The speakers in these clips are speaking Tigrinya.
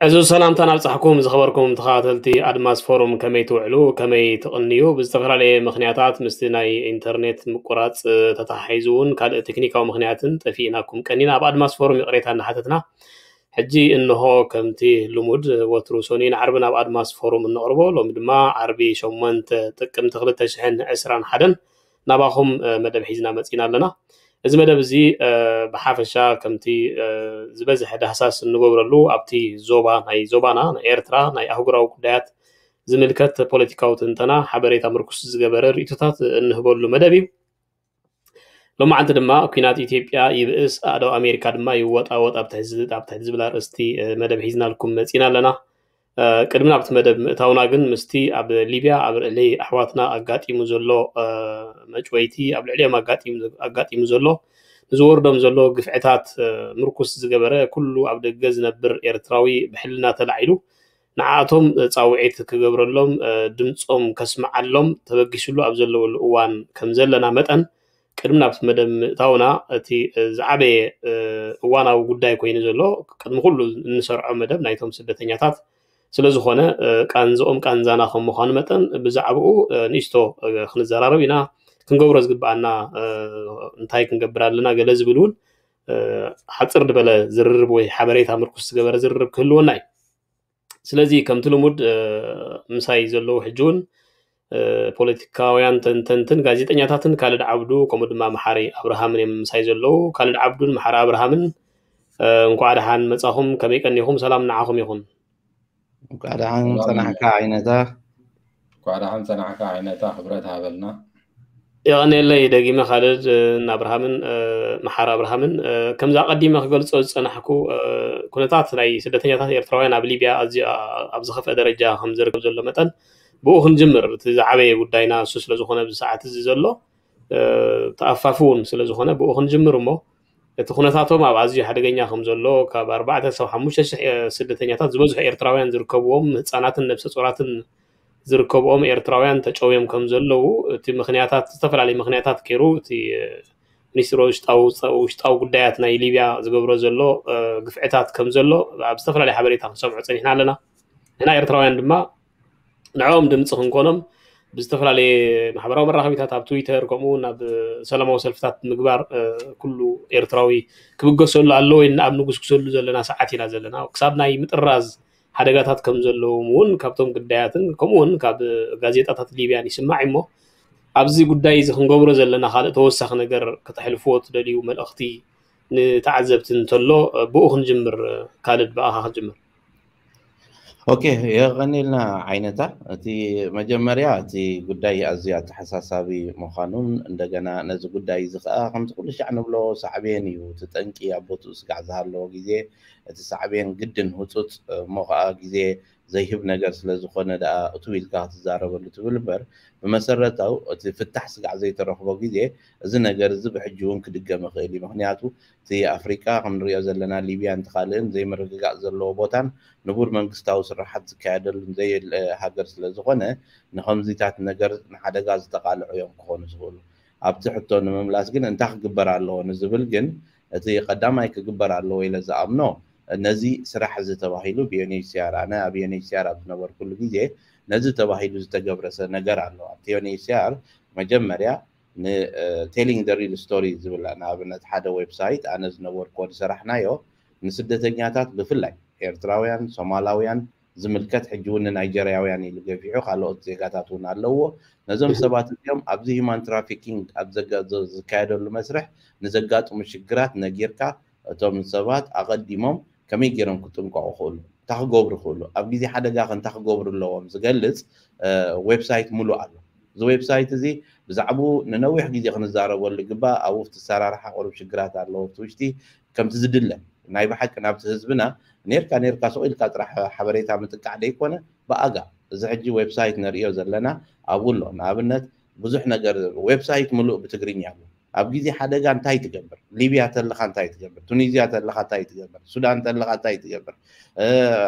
ዕዙዝ ሰላምታ ናብጻሕኩም ዝኸበርኩም ተኸታተልቲ ኣድማስ ፎሩም፣ ከመይ ትውዕሉ፣ ከመይ ትቕንዩ? ብዝተፈላለየ ምኽንያታት ምስቲ ናይ ኢንተርኔት ምቁራጽ ተተሓሒዙ እውን ካልእ ቴክኒካዊ ምኽንያትን ጠፊእናኩም ቀኒና ኣብ ኣድማስ ፎሩም ይቕሬታ እናሓተትና፣ ሕጂ እንሆ ከምቲ ልሙድ ወትሩ ሰኑይን ዓርብን ኣብ ኣድማስ ፎሩም እነቕርቦ፣ ሎሚ ድማ ዓርቢ ሸሞንተ ጥቅምቲ ክልተ ሽሕን ዕስራን ሓደን ናባኹም መደብ ሒዝና መጺና ኣለና። እዚ መደብ እዚ ብሓፈሻ ከምቲ ዝበዝሐ ዳህሳስ እንገብረሉ ኣብቲ ዞባ ናይ ዞባና ናይ ኤርትራ ናይ ኣህጉራዊ ጉዳያት ዝምልከት ፖለቲካዊ ትንተና ሓበሬታ ምርኩስ ዝገበረ ርእቶታት እንህበሉ መደብ እዩ። ሎማዓንቲ ድማ ኩናት ኢትዮጵያ ይብእስ ኣእዳው ኣሜሪካ ድማ ይወጣወጥ ኣብ ትሕቲ ዝብል ኣርእስቲ መደብ ሒዝናልኩም መፂና ኣለና። ቅድሚ ናብቲ መደብ ምእታውና ግን ምስቲ ኣብ ሊብያ ኣብ ልዕሊ ኣሕዋትና ኣጋጢሙ ዘሎ መጭወይቲ ኣብ ልዕሊኦም ኣጋጢሙ ዘሎ ንዝወርዶም ዘሎ ግፍዕታት ምርኩስ ዝገበረ ኩሉ ኣብ ደገ ዝነብር ኤርትራዊ ብሕልና ተላዒሉ ንዓኣቶም ፃውዒት ክገብረሎም ድምፆም ከስምዓሎም ተበጊስሉ ኣብ ዘለወሉ እዋን ከም ዘለና መጠን ቅድሚ ናብቲ መደብ ምእታውና እቲ ዝዓበየ እዋናዊ ጉዳይ ኮይኑ ዘሎ ቅድሚ ኩሉ እንሰርዖ መደብ ናይቶም ስደተኛታት ስለዝኾነ ቃንዝኦም ቃንዛና ከም ምዃኑ መጠን ብዛዕባኡ ንእሽቶ ክንዘራረብ ኢና። ክንገብሮ ዝግብኣና እንታይ ክንገብር ኣለና ገለ ዝብል እውን ሓፅር ዝበለ ዝርርብ ወይ ሓበሬታ ምርኩስ ዝገበረ ዝርርብ ክህልወና እዩ። ስለዚ ከምቲ ልሙድ ምሳይ ዘለዉ ሕጂ እውን ፖለቲካውያን ተንተንትን ጋዜጠኛታትን ካልድ ዓብዱ ከምኡ ድማ መሓሪ ኣብርሃምን እዮም ምሳይ ዘለዉ። ካልድ ዓብዱን መሓሪ ኣብርሃምን እንኳዕ ደሓን መጻኹም። ከመይ ቀኒኹም? ሰላም ንዓኹም ይኹን። እንኳዕ ደሓን ጸናሕካ ዓይነታ። እንኳዕ ደሓን ጸናሕካ ዓይነታ። ክብረት ሃበልና። የቐንየለይ ደጊመ ካልድ ንኣብርሃምን መሓር ኣብርሃምን ከምዚ ኣቐዲመ ክገልጾ ዝጸናሕኩ ኩነታት ናይ ስደተኛታት ኤርትራውያን ኣብ ሊብያ ኣዝዩ ኣብ ዝኸፍአ ደረጃ ከም ዝርከብ ዘሎ መጠን ብኡ ክንጅምር እቲ ዝዓበየ ጉዳይና እሱ ስለ ዝኾነ ኣብዚ ሰዓት እዚ ዘሎ ተኣፋፊ እውን ስለ ዝኾነ ብኡ ክንጅምር እሞ እቲ ኩነታቶም ኣብ ኣዝዩ ሓደገኛ ከም ዘሎ ካብ ኣርባዕተ ክሳብ ሓሙሽተ ሽሕ ስደተኛታት ዝበዝሑ ኤርትራውያን ዝርከብዎም ህፃናትን ነብሰ ፁራትን ዝርከብኦም ኤርትራውያን ተጨውዮም ከም ዘለዉ እቲ ምክንያታት ዝተፈላለዩ ምክንያታት ገይሩ እቲ ሚኒስትሪ ውሽጣዊ ውሽጣዊ ጉዳያት ናይ ሊብያ ዝገብሮ ዘሎ ግፍዕታት ከም ዘሎ ኣብ ዝተፈላለዩ ሓበሬታ ክንሰምዖ ፀኒሕና ኣለና። ንሕና ኤርትራውያን ድማ ንዕኦም ድምፂ ክንኮኖም ብዝተፈላለየ ማሕበራዊ መራኸቢታት ኣብ ትዊተር ከምኡ እውን ኣብ ሰላማዊ ሰልፍታት ምግባር ኩሉ ኤርትራዊ ክብገሰሉ ኣለዎ ኢልና ኣብ ንጉስጉሰሉ ዘለና ሰዓት ኢና ዘለና። ክሳብ ናይ ምጥራዝ ሓደጋታት ከም ዘለዎም እውን ካብቶም ግዳያትን ከምኡ እውን ካብ ጋዜጣታት ሊብያን ይስማዕ እሞ ኣብዚ ጉዳይ እዚ ክንገብሮ ዘለና ካልእ ተወሳኺ ነገር ከተሕልፍዎ ትደልዩ መልእኽቲ ንተዓዘብቲ እንተሎ ብኡ ክንጅምር። ካልድ ብኣኻ ክንጅምር። ኦኬ የቐኒልና ዓይነታ። እቲ መጀመርያ እቲ ጉዳይ ኣዝዩ ኣተሓሳሳቢ ምዃኑን እንደገና ነዚ ጉዳይ እዚ ከዓ ከምቲ ኩሉ ሻዕ ንብሎ ሳዕቤን እዩ እቲ ጠንቂ ኣብ ቦትኡ ስጋዕ ዝሃለዎ ግዜ እቲ ሳዕቤን ግድን ህፁፅ እሞ ከዓ ግዜ ዘይህብ ነገር ስለ ዝኾነ ደኣ እትው ኢልካ ክትዛረበሉ ትብል እምበር ብመሰረታው እቲ ፍታሕ ስጋዕ ዘይተረኽቦ ግዜ እዚ ነገር እዚ ብሕጂ እውን ክድገም ይኽእል እዩ። ምክንያቱ እቲ ኣፍሪቃ ክንሪኦ ዘለና ሊብያን ትኻልእን ዘይምርግጋእ ዘለዎ ቦታን ንቡር መንግስታዊ ስራሓት ዝካየደሉን ዘየለ ሃገር ስለ ዝኾነ ንኸምዚታት ነገር ንሓደጋ ዝተቃልዑ እዮም ክኾኑ ዝኽእሉ። ኣብቲ ሕቶ ንምምላስ ግን እንታይ ክግበር ኣለዎ ንዝብል ግን እቲ ቀዳማይ ክግበር ኣለዎ ኢለ ዝኣምኖ ነዚ ስራሕ እዚ ተባሂሉ ብዩኤንኤችሲኣር ኣነ ኣብ ዩኤንኤችሲኣር ኣብ ዝነበርኩሉ ግዜ ነዚ ተባሂሉ ዝተገብረሰ ነገር ኣሎ ኣብቲ ዩኤንኤችሲኣር መጀመርያ ቴሊንግ ደ ሪል ስቶሪ ዝብላ ንኣብነት ሓደ ዌብሳይት ኣነ ዝነበርኩዎ ዝሰራሕናዮ ንስደተኛታት ብፍላይ ኤርትራውያን ሶማላውያን ዝምልከት ሕጂ እውን ንናይጀርያውያን ኢሉ ገፊሑ ካልኦት ዜጋታት እውን ኣለውዎ ነዞም ሰባት እዚኦም ኣብዚ ሂማን ትራፊኪንግ ኣብ ዝካየደሉ መስርሕ ንዘጋጥሙ ሽግራት ነጊርካ እቶም ሰባት ኣቐዲሞም ከመይ ገይሮም ክጥንቀቑ ክእሉ እንታይ ክገብሩ ክእሉ ኣብ ግዜ ሓደጋ ከ እንታይ ክገብሩ ኣለዎም ዝገልፅ ዌብሳይት ሙሉእ ኣሎ እዚ ዌብሳይት እዚ ብዛዕባኡ ንነዊሕ ግዜ ክንዛረበሉ ይግባእ ኣብኡ እቲ ኣሰራርሓ ቁሩብ ሽግራት ኣለዎ ኣብቲ ውሽጢ ከምቲ ዝድለ ናይ ብሓቂ ናብቲ ህዝብና ኔርካ ኔርካ ስቕ ኢልካ ጥራሕ ሓበሬታ ምጥቃዕ ደይኮነ ብኣጋ እዚ ሕጂ ዌብሳይት ነርእዮ ዘለና ኣብኡ ኣሎ ንኣብነት ብዙሕ ነገር፣ ዌብሳይት ምሉእ ብትግርኛ ኣሎ። ኣብ ግዜ ሓደጋ እንታይ ትገብር? ሊብያ ተለኻ እንታይ ትገብር? ቱኒዝያ ተለኻ እንታይ ትገብር? ሱዳን ተለኻ እንታይ ትገብር?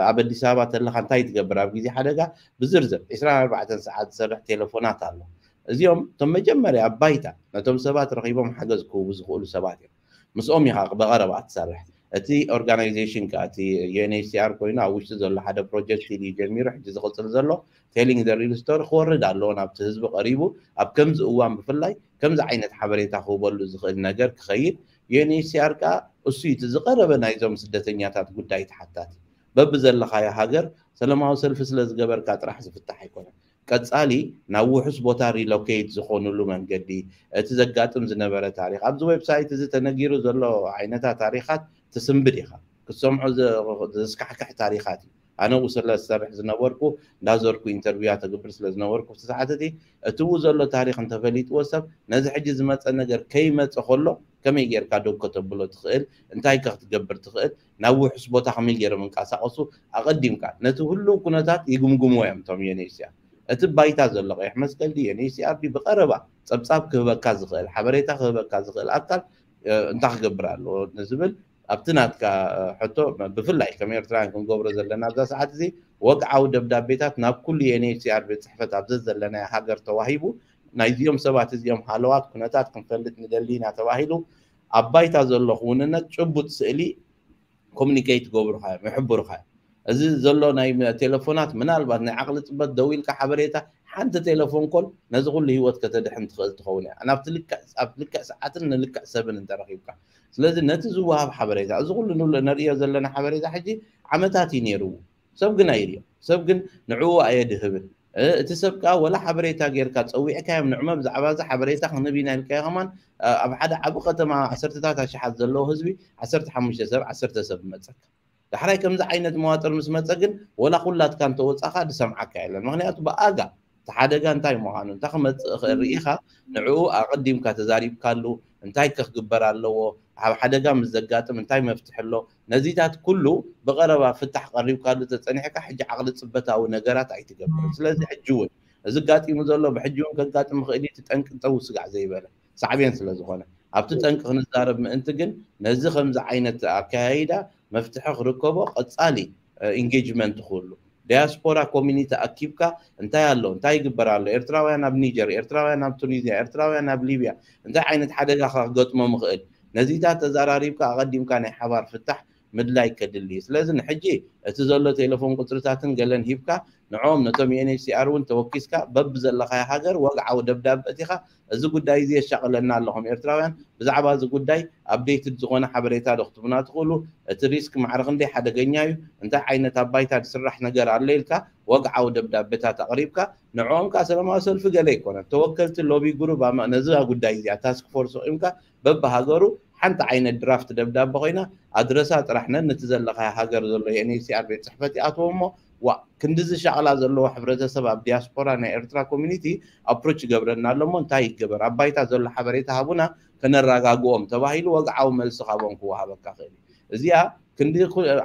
ኣብ ኣዲስ ኣበባ ተለኻ እንታይ ትገብር? ኣብ ግዜ ሓደጋ ብዝርዝር ዕስራን ኣርባዕተን ሰዓት ዝሰርሕ ቴሌፎናት ኣሎ። እዚኦም እቶም መጀመርያ ኣብ ባይታ ነቶም ሰባት ረኺቦም ሓገዝ ክህቡ ዝኽእሉ ሰባት እዮም። ምስኦም ኢኻ ብቐረባ ትሰርሕ። እቲ ኦርጋናይዜሽን ከ እቲ ዩ ኤን ኤች ሲ ኣር ኮይኑ ኣብ ውሽጢ ዘሎ ሓደ ፕሮጀክት እዩ ጀሚሩ ሕጂ ዝቕፅል ዘሎ። ቴሊንግ ዘ ሪል ስቶሪ ክወርድ ኣለዎ ናብቲ ህዝቢ ቀሪቡ ኣብ ከምዚ እዋን ብፍላይ ከምዚ ዓይነት ሓበሬታ ክህበሉ ዝኽእል ነገር ክኸይድ። ዩ ኤን ኤች ሲ ኣር ከኣ እሱ እቲ ዝቐረበ ናይዞም ስደተኛታት ጉዳይ ተሓታቲ በብዘለኻዮ ሃገር ሰለማዊ ሰልፊ ስለ ዝገበርካ ጥራሕ ዝፍታሕ ኣይኮነን። ቀጻሊ ናብ ውሑስ ቦታ ሪሎኬት ዝኾኑሉ መንገዲ፣ እቲ ዘጋጥም ዝነበረ ታሪኽ፣ ኣብዚ ዌብሳይት እዚ ተነጊሩ ዘሎ ዓይነታት ታሪኻት ትስንብድ ኢኻ። ክትሰምዖ ዘስካሕክሕ ታሪኻት እዩ። ኣነ ኡ ስለ ዝሰርሕ ዝነበርኩ እንዳዞርኩ ኢንተርቪያ ተግብር ስለ ዝነበርኩ እቲ ሰዓት እቲ እትው ዘሎ ታሪኽ እንተፈሊጥዎ ሰብ ነዚ ሕጂ ዝመፀ ነገር ከይመፀ ከሎ ከመይ ጌርካ ደው ከተብሎ ትኽእል? እንታይ ከ ክትገብር ትኽእል? ናብ ውሑስ ቦታ ከመይ ገይሮም እንቀሳቐሱ? ኣቐዲምካ ነቲ ህሉው ኩነታት ይግምግምዎ እዮም እቶም ዩ ኤን ኤች ሲ ኣር። እቲ ባይታ ዘሎ ቀይሕ መስቀል ድዩ ዩ ኤን ኤች ሲ ኣር ድዩ ብቐረባ ጸብጻብ ክህበካ ዝኽእል፣ ሓበሬታ ክህበካ ዝኽእል ኣካል እንታይ ክገብር ኣለዎ ንዝብል ኣብቲ ናትካ ሕቶ ብፍላይ ከም ኤርትራውያን ክንገብሮ ዘለና ኣብዛ ሰዓት እዚ ወግዓዊ ደብዳቤታት ናብ ኩሉ ዩ ኤን ኤች ሲ ኣር ቤት ጽሕፈት ኣብ ዘዘለናዮ ሃገር ተዋሂቡ ናይዚኦም ሰባት እዚኦም ሃለዋት ኩነታት ክንፈልጥ ንደሊ ኢና ተባሂሉ ኣብ ባይታ ዘሎ ክውንነት ጭቡጥ ስእሊ ኮሚኒኬት ይገብሩኻ እዮም፣ ይሕብሩኻ እዮም። እዚ ዘሎ ናይ ቴሌፎናት ምናልባት ናይ ዓቕሊ ፅበት ደው ኢልካ ሓበሬታ ሓንቲ ቴሌፎን ኮል ነዚ ኩሉ ህይወት ከተድሕን ትኽእል ትኸውን እያ። ናብቲ ልክዕ ኣብ ልክዕ ሰዓትን ንልክዕ ሰብን እንተረኺብካ። ስለዚ ነቲ ዝወሃብ ሓበሬታ እዚ ኩሉ ንብሎ ነርእዮ ዘለና ሓበሬታ ሕጂ ዓመታት እዩ ነይርዎ። ሰብ ግን ኣይርእዮ። ሰብ ግን ንዕኡ ኣየድህብን። እቲ ሰብ ከዓ ወላ ሓበሬታ ጌርካ ፀዊዕካዮም ንዕመ ብዛዕባ እዚ ሓበሬታ ክንህብ ኢና ኢልካዮ ከማን ኣብ ሓደ ዓብ ከተማ ዓሰርተታት ኣሽሓት ዘለዎ ህዝቢ ዓሰርተ ሓሙሽተ ሰብ ዓሰርተ ሰብ ይመፀካ። ዳሕራይ ከምዚ ዓይነት መዋጥር ምስ መፀ ግን ወላ ኩላትካ እንተወፃኻ ዝሰምዓካ የለን። ምክንያቱ ብኣጋ እቲ ሓደጋ እንታይ ምዃኑ እንታይ ክመፅእ ይኽእል ርኢኻ ንዕኡ ኣቐዲምካ ተዛሪብካሉ እንታይ ከክግበር ኣለዎ ኣብ ሓደጋ ምስ ዘጋጥም እንታይ መፍትሒ ኣሎ ነዚታት ኩሉ ብቐረባ ፍታሕ ቀሪብካሉ ተፀኒሕካ ሕጂ ዓቕሊ ፅበታዊ ነገራት ኣይትገብርን። ስለዚ ሕጂ እውን እዚ ጋጢሙ ዘሎ ብሕጂ እውን ከጋጥም ይኽእል እዩ። እቲ ጠንቂ ጠው ስጋዕ ዘይበለ ሳዕቤን ስለ ዝኾነ ኣብቲ ጠንቂ ክንዛረብ ምእንቲ ግን ነዚ ከምዚ ዓይነት ኣካያይዳ መፍትሒ ክርከቦ ቀፃሊ ኢንጌጅመንት ክህሉ ዲያስፖራ ኮሚኒቲ ኣኪብካ እንታይ ኣሎ እንታይ ይግበር ኣሎ ኤርትራውያን ኣብ ኒጀር ኤርትራውያን ኣብ ቱኒዝያ ኤርትራውያን ኣብ ሊብያ እንታይ ዓይነት ሓደጋ ክገጥሞም ይኽእል ነዚታት ተዘራሪብካ ኣቐዲምካ ናይ ሓባር ፍታሕ ምድላይ ከድሊ እዩ። ስለዚ ንሕጂ እቲ ዘሎ ቴሌፎን ቁፅርታትን ገለን ሂብካ ንዕኦም ነቶም ዩ ኤን ኤች ሲ ኣር እውን ተወኪስካ በብዘለኻዮ ሃገር ወግዓዊ ደብዳበ እቲኻ እዚ ጉዳይ እዚ የሻቕለና ኣሎ ከም ኤርትራውያን ብዛዕባ እዚ ጉዳይ ኣፕዴትድ ዝኾነ ሓበሬታ ዶ ክትቡና ትኽእሉ? እቲ ሪስክ ማዕረ ክንደይ ሓደገኛ እዩ? እንታይ ዓይነት ኣብ ባይታ ዝስራሕ ነገር ኣሎ ኢልካ ወግዓዊ ደብዳቤታት ኣቕሪብካ ንዕኦም ከዓ ሰላማዊ ሰልፊ ገለ ኣይኮነን ተወከልቲ ሎቢ ግሩብ ነዚ ጉዳይ እዚኣ ታስክ ፎርስ ኣቑምካ በብሃገሩ ሓንቲ ዓይነት ድራፍት ደብዳበ ኮይና ኣድረሳ ጥራሕ ነን ነቲ ዘለኻዮ ሃገር ዘሎ ዩ ኤን ኤች ሲ ኣር ቤት ፅሕፈት ይኣትዎ እሞ ዋ ክንድዚ ሻቕላ ዘለዎ ሕብረተሰብ ኣብ ዲያስፖራ ናይ ኤርትራ ኮሚኒቲ ኣፕሮች ይገብረና ኣሎ እሞ እንታይ ይገበር ኣብ ባይታ ዘሎ ሓበሬታ ሃቡና ከነረጋግኦም ተባሂሉ ወግዓዊ መልሲ ካብኦም ክወሃበካ ክእል እዩ። እዚኣ ክንዲ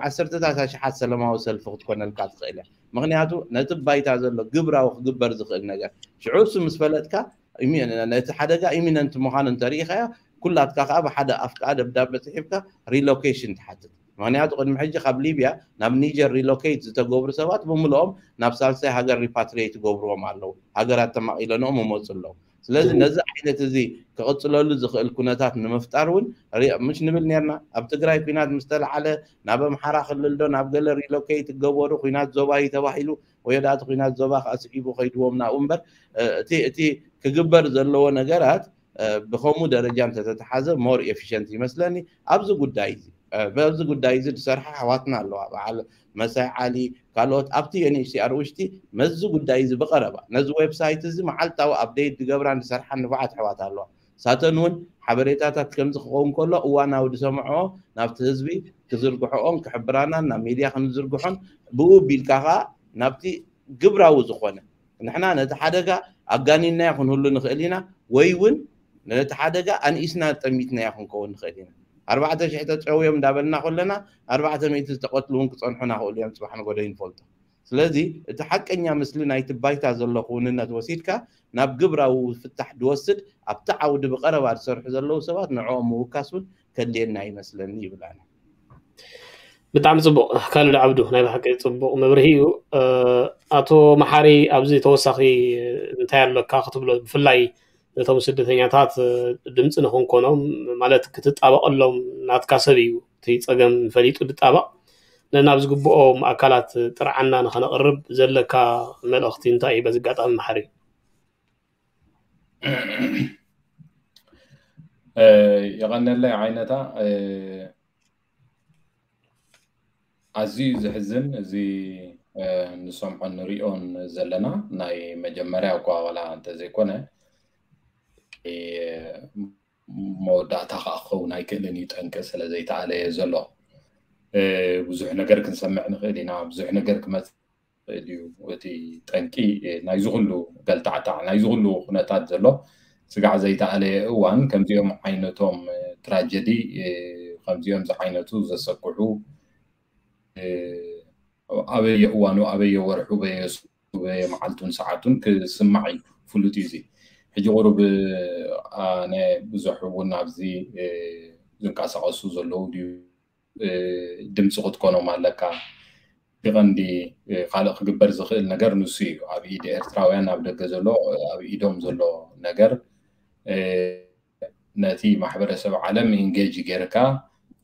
ዓሰርተታት ኣሽሓት ሰላማዊ ሰልፊ ክትኮነልካ ትኽእል እያ። ምክንያቱ ነቲ ባይታ ዘሎ ግብራዊ ክግበር ዝኽእል ነገር ሽዑ እሱ ምስ ፈለጥካ ነቲ ሓደጋ ኢሚነንት ምዃኑ እንተርኢኻዮ ኩላትካ ከዓ ብሓደ ኣፍ ከዓ ደብዳበ ፅሒፍካ ሪሎኬሽን ትሓትት። ምክንያቱ ቅድሚ ሕጂ ካብ ሊብያ ናብ ኒጀር ሪሎኬት ዝተገብሩ ሰባት ብምልኦም ናብ ሳልሳይ ሃገር ሪፓትሪየት ይገብርዎም ኣለዉ። ሃገራት ተማቒለንኦም ይመፁ ኣለዉ። ስለዚ ነዚ ዓይነት እዚ ክቕፅለሉ ዝኽእል ኩነታት ንምፍጣር እውን ምሽ ንብል ነርና ኣብ ትግራይ ኩናት ምስ ተለዓለ ናብ ኣምሓራ ክልል ዶ ናብ ገለ ሪሎኬት ይገበሩ ኩናት ዞባ እዩ ተባሂሉ ወይ ዳእቲ ኩናት ዞባ ከዓ ስዒቡ ከይድዎም ናብኡ እምበር እቲ ክግበር ዘለዎ ነገራት ብከምኡ ደረጃ እንተተተሓዘ ሞር ኤፊሽንት ይመስለኒ። ኣብዚ ጉዳይ እዚ በዚ ጉዳይ እዚ ዝሰርሓ ኣሕዋትና ኣለዋ በዓል መሳይ ዓሊ ካልኦት ኣብቲ ዩኤንኤችሲኣር ውሽጢ ነዚ ጉዳይ እዚ ብቀረባ ነዚ ዌብሳይት እዚ መዓልታዊ ኣፕዴት ዝገብራን ዝሰርሓን ንፉዓት ኣሕዋት ኣለዋ። ሳተን እውን ሓበሬታታት ከምዚ ክኸውን ከሎ እዋናዊ ዝሰምዖ ናብቲ ህዝቢ ክዝርግሕኦን ክሕብራናን ናብ ሚድያ ክንዝርግሖን ብኡ ቢልካ ከዓ ናብቲ ግብራዊ ዝኾነ ንሕና ነቲ ሓደጋ ኣጋኒናዮ ክንህሉ ንኽእል ኢና ወይ እውን ነቲ ሓደጋ ኣንኢስና ጠሚትናዮ ክንከውን ንኽእል ኢና። ኣርባዕተ ሽሕ ተጨውዮም እንዳበልና ከለና ኣርባዕተ ሚእቲ ዝተቐትሉ እውን ክፀንሑና ክእሉ እዮም ፅባሕ ንጎደ ይንፈልጦ። ስለዚ እቲ ሓቀኛ ምስሊ ናይቲ ባይታ ዘሎ ክውንነት ወሲድካ ናብ ግብራዊ ፍታሕ ድወስድ ኣብቲ ዓውዲ ብቐረባ ዝሰርሑ ዘለዉ ሰባት ንዕኦም ምውካስ እውን ከድልየና ይመስለኒ ይብል ኣነ። ብጣዕሚ ፅቡቕ ካልድ ዓብዱ፣ ናይ ብሓቂ ፅቡቕ መብርሂ እዩ። ኣቶ መሓሪ፣ ኣብዚ ተወሳኺ እንታይ ኣለካ ክትብሎ? ብፍላይ ነቶም ስደተኛታት ድምፂ ንክንኮኖም፣ ማለት ክትጣበቐሎም ናትካ ሰብ እዩ። እቲ ፀገም ፈሊጡ ድጣበቕ፣ ነናብ ዝግብኦም ኣካላት ጥርዓና ንኸነቕርብ ዘለካ መልእኽቲ እንታይ እዩ? በዚ ኣጋጣሚ መሓሪ። የቐነለይ ዓይነታ። ኣዝዩ ዘሕዝን እዚ ንሰምዖን ንሪኦን ዘለና ናይ መጀመርያ እኳ ዋላ እንተዘይኮነ፣ መወዳእታ ከዓ ክኸውን ኣይክእልን እዩ። ጠንቂ ስለ ዘይተኣለየ ዘሎ ብዙሕ ነገር ክንሰምዕ ንኽእል ኢና። ብዙሕ ነገር ክመፅእ ይኽእል እዩ። እቲ ጠንቂ ናይዚ ኩሉ ገልታዕታዕ፣ ናይዚ ኩሉ ኩነታት ዘሎ ስጋዕ ዘይተኣለየ እዋን፣ ከምዚኦም ዓይነቶም ትራጀዲ፣ ከምዚኦም ዝዓይነቱ ዘሰክሑ፣ ኣበየ እዋኑ፣ ኣበየ ወርሑ፣ በየ በየ መዓልቱን ሰዓቱን ክስማዕ እዩ። ፍሉጥ እዩ። እዚ ሕጂ ቁሩብ ኣነ ብዙሕ እውን ኣብዚ ዝንቀሳቐሱ ዘለዉ ድዩ ድምፂ ክትኮኖም ኣለካ። ብቐንዲ ካልእ ክግበር ዝኽእል ነገር ንሱ እዩ። ኣብ ኢድ ኤርትራውያን ኣብ ደገ ዘሎ፣ ኣብ ኢዶም ዘሎ ነገር ነቲ ማሕበረሰብ ዓለም ኢንጌጅ ጌርካ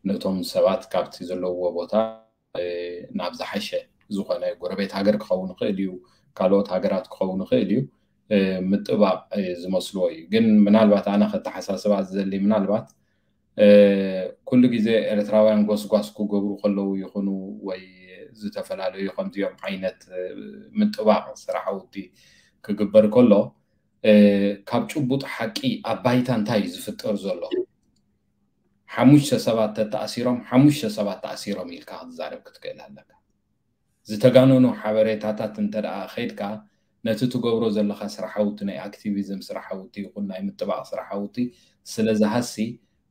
ነቶም ሰባት ካብቲ ዘለውዎ ቦታ ናብ ዝሓሸ ዝኾነ ጎረቤት ሃገር ክኸውን ይኽእል እዩ፣ ካልኦት ሃገራት ክኸውን ይኽእል እዩ፣ ምጥባቕ ዝመስልዎ እዩ። ግን ምናልባት ኣነ ከተሓሳስባ ዝደሊ፣ ምናልባት ኩሉ ግዜ ኤርትራውያን ጎስጓስ ክገብሩ ከለዉ ይኹኑ ወይ ዝተፈላለዩ ከምዚኦም ዓይነት ምጥባቕ ስራሕውቲ ክግበር ከሎ፣ ካብ ጭቡጥ ሓቂ ኣብ ባይታ እንታይ እዩ ዝፍጠር ዘሎ? ሓሙሽተ ሰባት ተተኣሲሮም፣ ሓሙሽተ ሰባት ተኣሲሮም ኢልካ ክትዛረብ ክትክእል ኣለካ። ዝተጋነኑ ሓበሬታታት እንተ ደኣ ከይድካ፣ ነቲ ትገብሮ ዘለኻ ስራሓውቲ፣ ናይ ኣክቲቪዝም ስራሓውቲ ይኹን ናይ ምጥባቕ ስራሓውቲ ስለ ዝሃሲ፣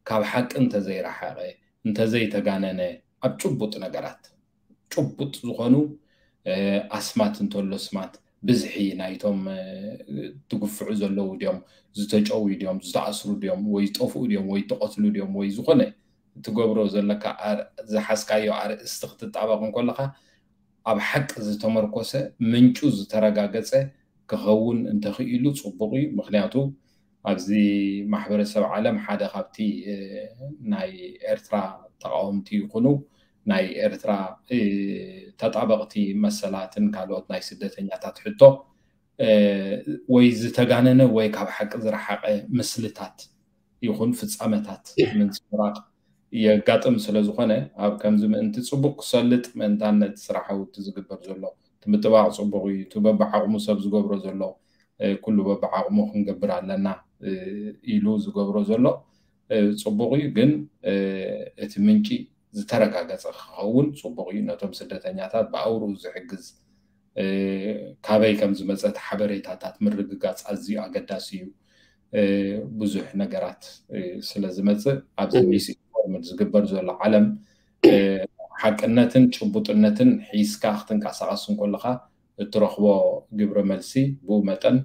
ካብ ሓቂ እንተዘይረሓቐ፣ እንተዘይተጋነነ፣ ኣብ ጭቡጥ ነገራት፣ ጭቡጥ ዝኾኑ ኣስማት እንተሎ ኣስማት፣ ብዝሒ ናይቶም ትግፍዑ ዘለዉ ድዮም፣ ዝተጨውዩ ድዮም፣ ዝተኣስሩ ድዮም፣ ወይ ዝጠፍኡ ድዮም፣ ወይ ተቐትሉ ድዮም፣ ወይ ዝኾነ ትገብሮ ዘለካ ዝሓዝካዮ ኣርእስቲ ክትጣበቕ እንከለኻ፣ ኣብ ሓቂ ዝተመርኮሰ፣ ምንጩ ዝተረጋገፀ ክኸውን እንተኽኢሉ ፅቡቕ እዩ። ምክንያቱ ኣብዚ ማሕበረሰብ ዓለም ሓደ ካብቲ ናይ ኤርትራ ተቃወምቲ ይኹኑ ናይ ኤርትራ ተጣበቕቲ መሰላትን ካልኦት ናይ ስደተኛታት ሕቶ ወይ ዝተጋነነ ወይ ካብ ሓቂ ዝረሓቐ ምስልታት ይኹን ፍጻመታት ምንጽብራቕ የጋጥም ስለ ዝኾነ፣ ኣብ ከምዚ ምእንቲ ጽቡቕ ክሰልጥ ምእንታን ነቲ ስራሓዊ እቲ ዝግበር ዘሎ እቲ ምጥባቕ ጽቡቕ እዩ። እቲ በብዓቕሙ ሰብ ዝገብሮ ዘሎ ኩሉ በብዓቕሙ ክንገብር ኣለና ኢሉ ዝገብሮ ዘሎ ጽቡቕ እዩ። ግን እቲ ምንጪ ዝተረጋገጸ ክኸውን ጽቡቕ እዩ። ነቶም ስደተኛታት ብኣውርኡ ዝሕግዝ፣ ካበይ ከም ዝመጸ እቲ ሓበሬታታት ምርግጋጽ ኣዝዩ ኣገዳሲ እዩ። ብዙሕ ነገራት ስለ ዝመጽእ ኣብዚ ሚስ ኢንፎርምድ ዝግበር ዘሎ ዓለም ሓቅነትን ጭቡጥነትን ሒዝካ ክትንቀሳቐስ እንከለኻ እትረኽቦ ግብረ መልሲ ብኡ መጠን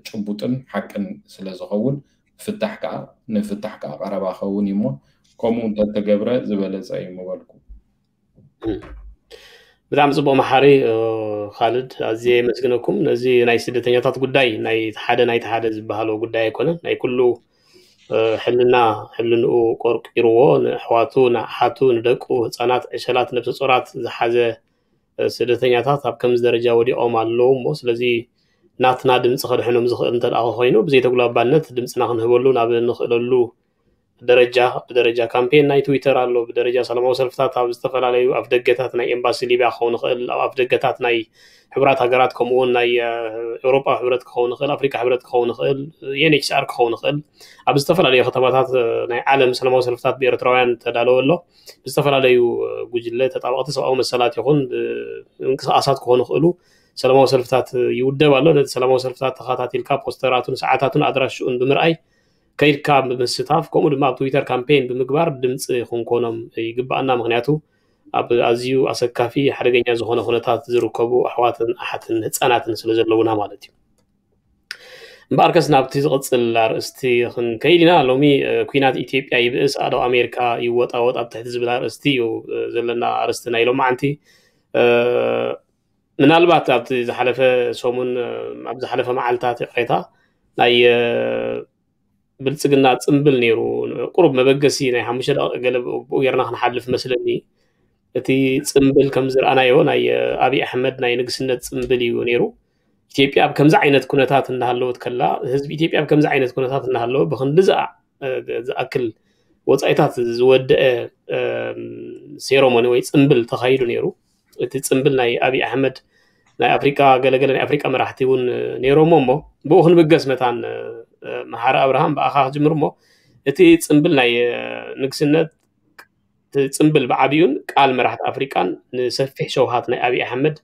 ጭቡጥን ሓቅን ስለ ዝኸውን ፍታሕ ከዓ ንፍታሕ ከዓ ቀረባ ኸውን እዩ እሞ ከምኡ እንተተገብረ ዝበለፀ እዩ ምበልኩ። ብጣዕሚ ፅቡቅ መሓሪ ካልድ፣ ኣዝየ የመስግነኩም። ነዚ ናይ ስደተኛታት ጉዳይ ናይ ሓደ ናይቲ ሓደ ዝበሃሎ ጉዳይ ኣይኮነን። ናይ ኩሉ ሕልና ሕልንኡ ቆርቂርዎ ንኣሕዋቱ ንኣሓቱ ንደቁ ህፃናት ዕሸላት ነብሰ ፆራት ዝሓዘ ስደተኛታት ኣብ ከምዚ ደረጃ ወዲቖም ኣለዉ እሞ ስለዚ ናትና ድምፂ ከድሕኖም ዝኽእል እንተ ደኣ ኮይኑ ብዘይተጉላባነት ድምፅና ክንህበሉ ናብ እንኽእለሉ ደረጃ ብደረጃ ካምፔን ናይ ትዊተር ኣሎ፣ ብደረጃ ሰላማዊ ሰልፍታት ኣብ ዝተፈላለዩ ኣፍደገታት ናይ ኤምባሲ ሊብያ ክኸውን ይኽእል፣ ኣብ ኣፍደገታት ናይ ሕቡራት ሃገራት ከምኡ እውን ናይ ኤውሮጳ ሕብረት ክኸውን ይኽእል፣ ኣፍሪካ ሕብረት ክኸውን ይኽእል፣ ዩኤንኤችሲኣር ክኸውን ይኽእል፣ ኣብ ዝተፈላለዩ ከተማታት ናይ ዓለም ሰላማዊ ሰልፍታት ብኤርትራውያን ተዳለወ ኣሎ። ብዝተፈላለዩ ጉጅለ ተጣበቕቲ ሰብኣዊ መሰላት ይኹን ምንቅስቃሳት ክኾኑ ይኽእሉ ሰላማዊ ሰልፍታት ይውደብ ኣሎ። ነቲ ሰላማዊ ሰልፍታት ተኸታቲልካ ፖስተራቱን ሰዓታቱን ኣድራሽኡን ብምርኣይ ከይድካ ብምስታፍ ከምኡ ድማ ኣብ ትዊተር ካምፔን ብምግባር ድምፂ ክንኮኖም ይግባኣና። ምክንያቱ ኣብ ኣዝዩ ኣሰካፊ ሓደገኛ ዝኾነ ኩነታት ዝርከቡ ኣሕዋትን ኣሓትን ህፃናትን ስለ ዘለውና ማለት እዩ። እምበኣርከስ ናብቲ ዝቕፅል ኣርእስቲ ክንከይድ ኢና። ሎሚ ኩናት ኢትዮጵያ ይብእስ ኣእዳው ኣሜሪካ ይወጣወጥ ኣብ ትሕቲ ዝብል ኣርእስቲ እዩ ዘለና ኣርእስቲ ናይ ሎማዓንቲ። ምናልባት ኣብቲ ዝሓለፈ ሰሙን ኣብ ዝሓለፈ መዓልታት ይቕሬታ ናይ ብልፅግና ፅምብል ነይሩ። ቁሩብ መበገሲ ናይ ሓሙሽተ ደቂቕ ገለ ብኡ ጌርና ክንሓልፍ መስለኒ። እቲ ፅምብል ከም ዝረኣናዮ ናይ ኣብይ ኣሕመድ ናይ ንግስነት ፅምብል እዩ ነይሩ። ኢትዮጵያ ኣብ ከምዚ ዓይነት ኩነታት እናሃለወት ከላ፣ ህዝቢ ኢትዮጵያ ኣብ ከምዚ ዓይነት ኩነታት እናሃለወ ብክንድዚ ዝኣክል ወፃኢታት ዝወደአ ሴሮሞኒ ወይ ፅምብል ተኻይዱ ነይሩ። እቲ ፅምብል ናይ ኣብይ ኣሕመድ ናይ ኣፍሪቃ ገለገለ ናይ ኣፍሪቃ መራሕቲ እውን ነይሮሞ እሞ ብኡ ክንብገስ መታን መሓሪ ኣብርሃም ብኣኻ ክጅምር እሞ እቲ ፅምብል ናይ ንግስነት እቲ ፅምብል ብዓብዩን ቃል መራሕቲ ኣፍሪቃን ንሰፊሕ ሸውሃት ናይ ኣብይ ኣሕመድ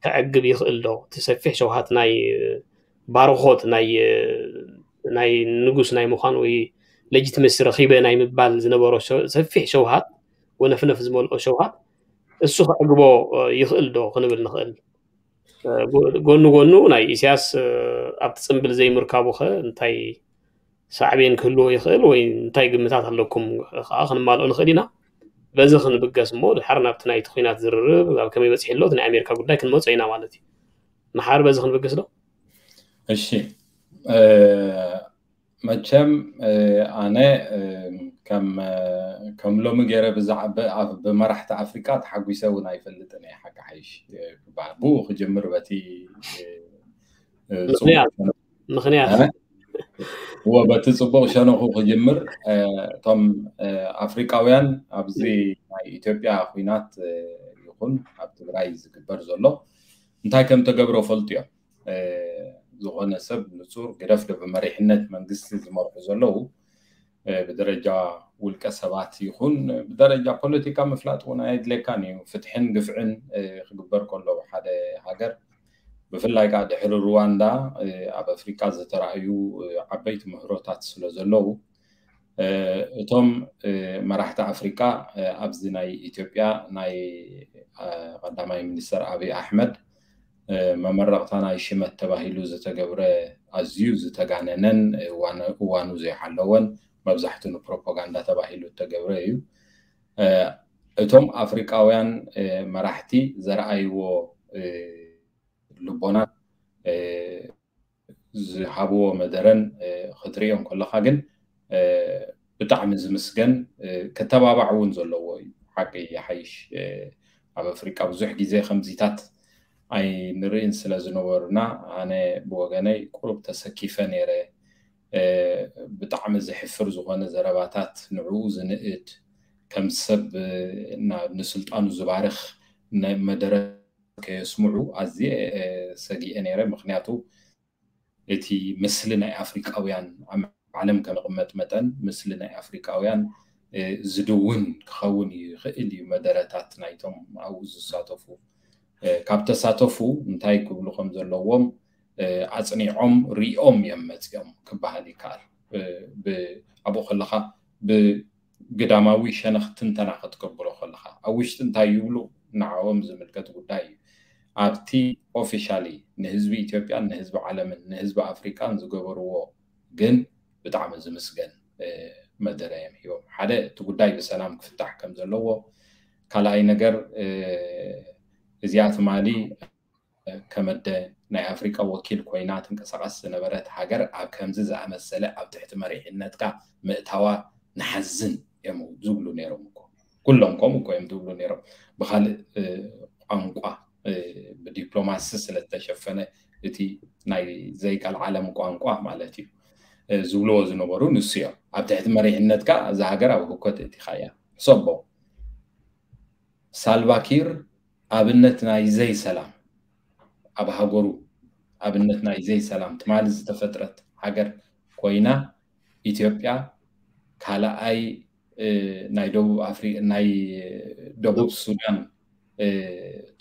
ከዕግብ ይኽእል ዶ? እቲ ሰፊሕ ሸውሃት ናይ ባርኾት ናይ ናይ ንጉስ ናይ ምዃን ወይ ሌጂትመሲ ረኺበ ናይ ምባል ዝነበሮ ሰፊሕ ሸውሃት ወነፍነፍ ዝመልኦ ሸውሃት እሱ ከዕግቦ ይኽእል ዶ ክንብል ንኽእል። ጎኑ ጎኑ ናይ ኢሳያስ ኣብቲ ፅምብል ዘይምርካቡ ኸ እንታይ ሳዕቤን ክህልዎ ይኽእል ወይ እንታይ ግምታት ኣለኩም ከዓ ክንማልኦ ንኽእል ኢና። በዚ ክንብገስ እሞ ድሓር ናብቲ ናይቲ ኩናት ዝርርብ ኣብ ከመይ በፂሑ ኣሎ ናይ ኣሜሪካ ጉዳይ ክንመፆ ኢና ማለት እዩ። መሓር በዚ ክንብገስ ዶ? እሺ መቸም ኣነ ከም ሎሚ ገይረ ብዛዕባ ብመራሕቲ ኣፍሪቃ ተሓጒሰ እውን ኣይፈልጥን እየ ሓቂ ሓይሽ ክበሃል ብኡ ክጅምር በቲ ምክንያት እዎ በቲ ፅቡቅ ሸነኹ ክጅምር እቶም ኣፍሪቃውያን ኣብዚ ናይ ኢትዮጵያ ኩናት ይኹን ኣብ ትግራይ ዝግበር ዘሎ እንታይ ከም ተገብሮ ፈልጡ እዮም። ዝኾነ ሰብ ንፁር ግደፍ ዶ ብመሪሕነት መንግስቲ ዝመርሑ ዘለዉ ብደረጃ ውልቀ ሰባት ይኹን ብደረጃ ፖለቲካ ምፍላጥ እውን ኣየድለካን እዩ። ፍትሕን ግፍዕን ክግበር ከሎ ሓደ ሃገር ብፍላይ ከዓ ድሕሪ ሩዋንዳ ኣብ ኣፍሪካ ዝተረኣዩ ዓበይቲ ምህሮታት ስለ ዘለዉ እቶም መራሕቲ ኣፍሪካ ኣብዚ ናይ ኢትዮጵያ ናይ ቀዳማይ ሚኒስትር ኣብይ ኣሕመድ መመረቕታ ናይ ሽመት ተባሂሉ ዝተገብረ ኣዝዩ ዝተጋነነን እዋኑ ዘይሓለወን መብዛሕቱ ንፕሮፓጋንዳ ተባሂሉ እተገብረ እዩ። እቶም ኣፍሪቃውያን መራሕቲ ዘረኣይዎ ልቦና ዝሃብዎ መደረን ክትሪኦ እንከለካ ግን ብጣዕሚ ዝምስገን ክተባባዕ እውን ዘለዎ እዩ። ሓቂ ይሓይሽ ኣብ ኣፍሪቃ ብዙሕ ግዜ ከምዚታት ኣይንርእን ስለ ዝነበሩና ኣነ ብወገነይ ቁሩብ ተሰኪፈ ነይረ። ብጣዕሚ ዝሕፍር ዝኾነ ዘረባታት ንዕኡ ዝንእድ ከም ሰብ ንስልጣኑ ዝባርኽ መደረ ከየስምዑ ኣዝየ ሰጊኤ ነይረ። ምክንያቱ እቲ ምስሊ ናይ ኣፍሪቃውያን ኣብ ዓለም ከም ዝቕመጥ መጠን ምስሊ ናይ ኣፍሪቃውያን ዝድውን ክኸውን ይኽእል እዩ መደረታት ናይቶም ኣብኡ ዝሳተፉ ካብ ተሳተፉ እንታይ ክብሉ ከም ዘለዎም ኣፅኒዖም ሪኦም እዮም መፅኦም ክበሃል ይከኣል። ኣብኡ ከለካ ብግዳማዊ ሸነኽ ትንተና ክትቅብሎ ከለካ ኣብ ውሽጢ እንታይ ይብሉ ንዓኦም ዝምልከት ጉዳይ እዩ። ኣብቲ ኦፊሻሊ ንህዝቢ ኢትዮጵያን ንህዝቢ ዓለምን ንህዝቢ ኣፍሪቃን ዝገበርዎ ግን ብጣዕሚ ዝምስገን መደረ እዮም ሂቦም። ሓደ እቲ ጉዳይ ብሰላም ክፍታሕ ከም ዘለዎ፣ ካልኣይ ነገር እዚኣ ትማሊ ከመደ ናይ ኣፍሪቃ ወኪል ኮይና ትንቀሳቐስ ዝነበረት ሃገር ኣብ ከምዚ ዝኣመሰለ ኣብ ትሕቲ መሪሕነትካ ምእታዋ ንሓዝን እዮም ዝብሉ ነይሮም እኮ። ኩሎም ከምኡ እኮ እዮም ዝብሉ ነይሮም። ብካልእ ቋንቋ ብዲፕሎማሲ ስለዝተሸፈነ እቲ ናይ ዘይቀልዓለም ቋንቋ ማለት እዩ ዝብልዎ ዝነበሩ ንሱ እዮም። ኣብ ትሕቲ መሪሕነትካ እዛ ሃገር ኣብ ህኮት እቲኻ እያ። ሕሰቦ ሳልቫኪር ኣብነት ናይ ዘይሰላም ኣብ ሃገሩ ኣብነት ናይ ዘይሰላም ትማሊ ዝተፈጥረት ሃገር ኮይና ኢትዮጵያ ካልኣይ ናይ ደቡብ ኣፍሪ ናይ ደቡብ ሱዳን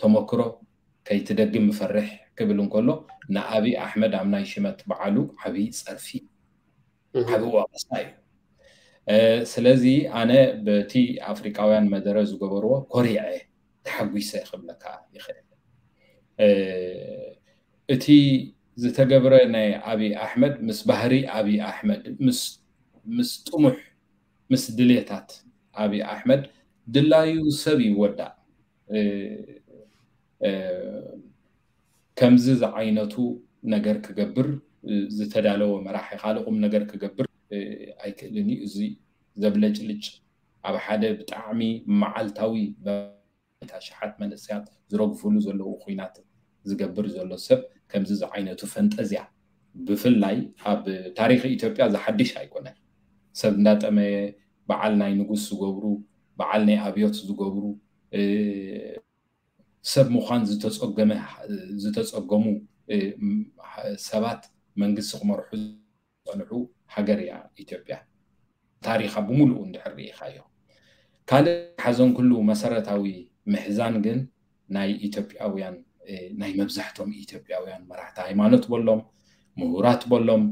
ተመክሮ ከይትደግም ምፈርሕ ክብል እንከሎ ንኣብይ ኣሕመድ ኣብ ናይ ሽመት በዓሉ ዓብዪ ፀርፊ ዓብዪ ወቐሳ እዩ። ስለዚ ኣነ በቲ ኣፍሪቃውያን መደረ ዝገበርዎ ኮሪዐ፣ ተሓጒሰ ክብለካ ይኽእል። እቲ ዝተገብረ ናይ ኣብይ ኣሕመድ ምስ ባህሪ ኣብይ ኣሕመድ ምስ ጥሙሕ ምስ ድሌታት ኣብይ ኣሕመድ ድላዩ ሰብ ይወዳእ። ከምዚ ዝዓይነቱ ነገር ክገብር ዝተዳለወ መራሒ ካልእ ቁም ነገር ክገብር ኣይክእልን እዩ። እዚ ዘብለጭልጭ ኣብ ሓደ ብጣዕሚ መዓልታዊ ኣሽሓት መንእሰያት ዝረግፍሉ ዘለዉ ኩናት ዝገብር ዘሎ ሰብ ከምዚ ዝዓይነቱ ፈንጠዝያ ብፍላይ ኣብ ታሪኽ ኢትዮጵያ ዝሓድሽ ኣይኮነን። ሰብ እንዳጠመየ በዓል ናይ ንጉስ ዝገብሩ በዓል ናይ ኣብዮት ዝገብሩ ሰብ ምዃን ዝተፀገመ ዝተፀገሙ ሰባት መንግስቲ ክመርሑ ዝፀንሑ ሃገር እያ ኢትዮጵያ። ታሪኻ ብምሉኡ እንድሕር ርኢኻዮ። ካልእ ሓዘን ኩሉ መሰረታዊ ምሕዛን ግን ናይ ኢትዮጵያውያን ናይ መብዛሕቶም ኢትዮጵያውያን መራሕቲ ሃይማኖት በሎም ምሁራት በሎም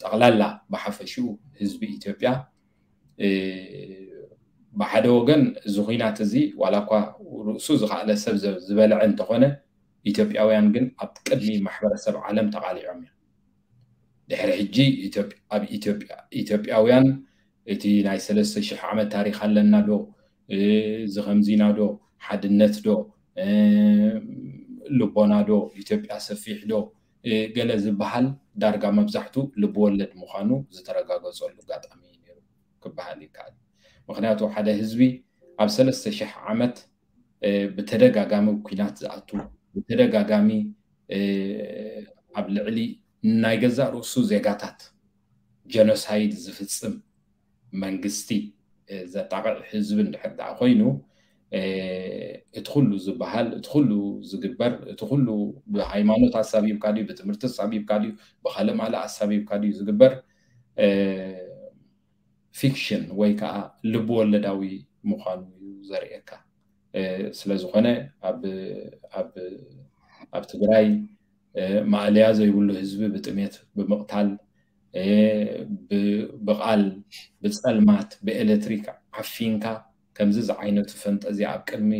ጠቕላላ ብሓፈሽኡ ህዝቢ ኢትዮጵያ ብሓደ ወገን እዚ ኩናት እዚ ዋላ እኳ ርእሱ ዝኸኣለ ሰብ ዝበልዐ እንተኾነ ኢትዮጵያውያን ግን ኣብ ቅድሚ ማሕበረሰብ ዓለም ተቓሊዖም እዮም። ድሕሪ ሕጂ ኣብ ኢትዮጵያ ኢትዮጵያውያን እቲ ናይ ሰለስተ ሽሕ ዓመት ታሪክ ኣለና ዶ እዚ ከምዚና ዶ ሓድነት ዶ ልቦና ዶ ኢትዮጵያ ሰፊሕ ዶ ገለ ዝበሃል ዳርጋ መብዛሕቱ ልብወለድ ምዃኑ ዝተረጋገፀሉ ኣጋጣሚ እዩ ነይሩ ክበሃል ይከኣል። ምክንያቱ ሓደ ህዝቢ ኣብ ሰለስተ ሽሕ ዓመት ብተደጋጋሚ ኩናት ዝኣቱ ብተደጋጋሚ ኣብ ልዕሊ ናይ ገዛእ ርእሱ ዜጋታት ጀኖሳይድ ዝፍፅም መንግስቲ ዘጣቕዕ ህዝቢ እንድሕር ደኣ ኮይኑ እቲ ኩሉ ዝበሃል እቲ ኩሉ ዝግበር እቲ ኩሉ ብሃይማኖት ኣሳቢብካ ድዩ ብትምህርቲ ኣሳቢብካ ድዩ ብካልእ ማልእ ኣሳቢብካ ድዩ ዝግበር ፊክሽን ወይ ከዓ ልብ ወለዳዊ ምዃኑ እዩ ዘርእየካ። ስለዝኾነ ኣብ ትግራይ ማእለያ ዘይብሉ ህዝቢ ብጥሜት ብምቕታል ብቓል ብፀልማት ብኤሌክትሪክ ዓፊንካ ከምዚ ዝዓይነቱ ፈንጠዝያ ኣብ ቅድሚ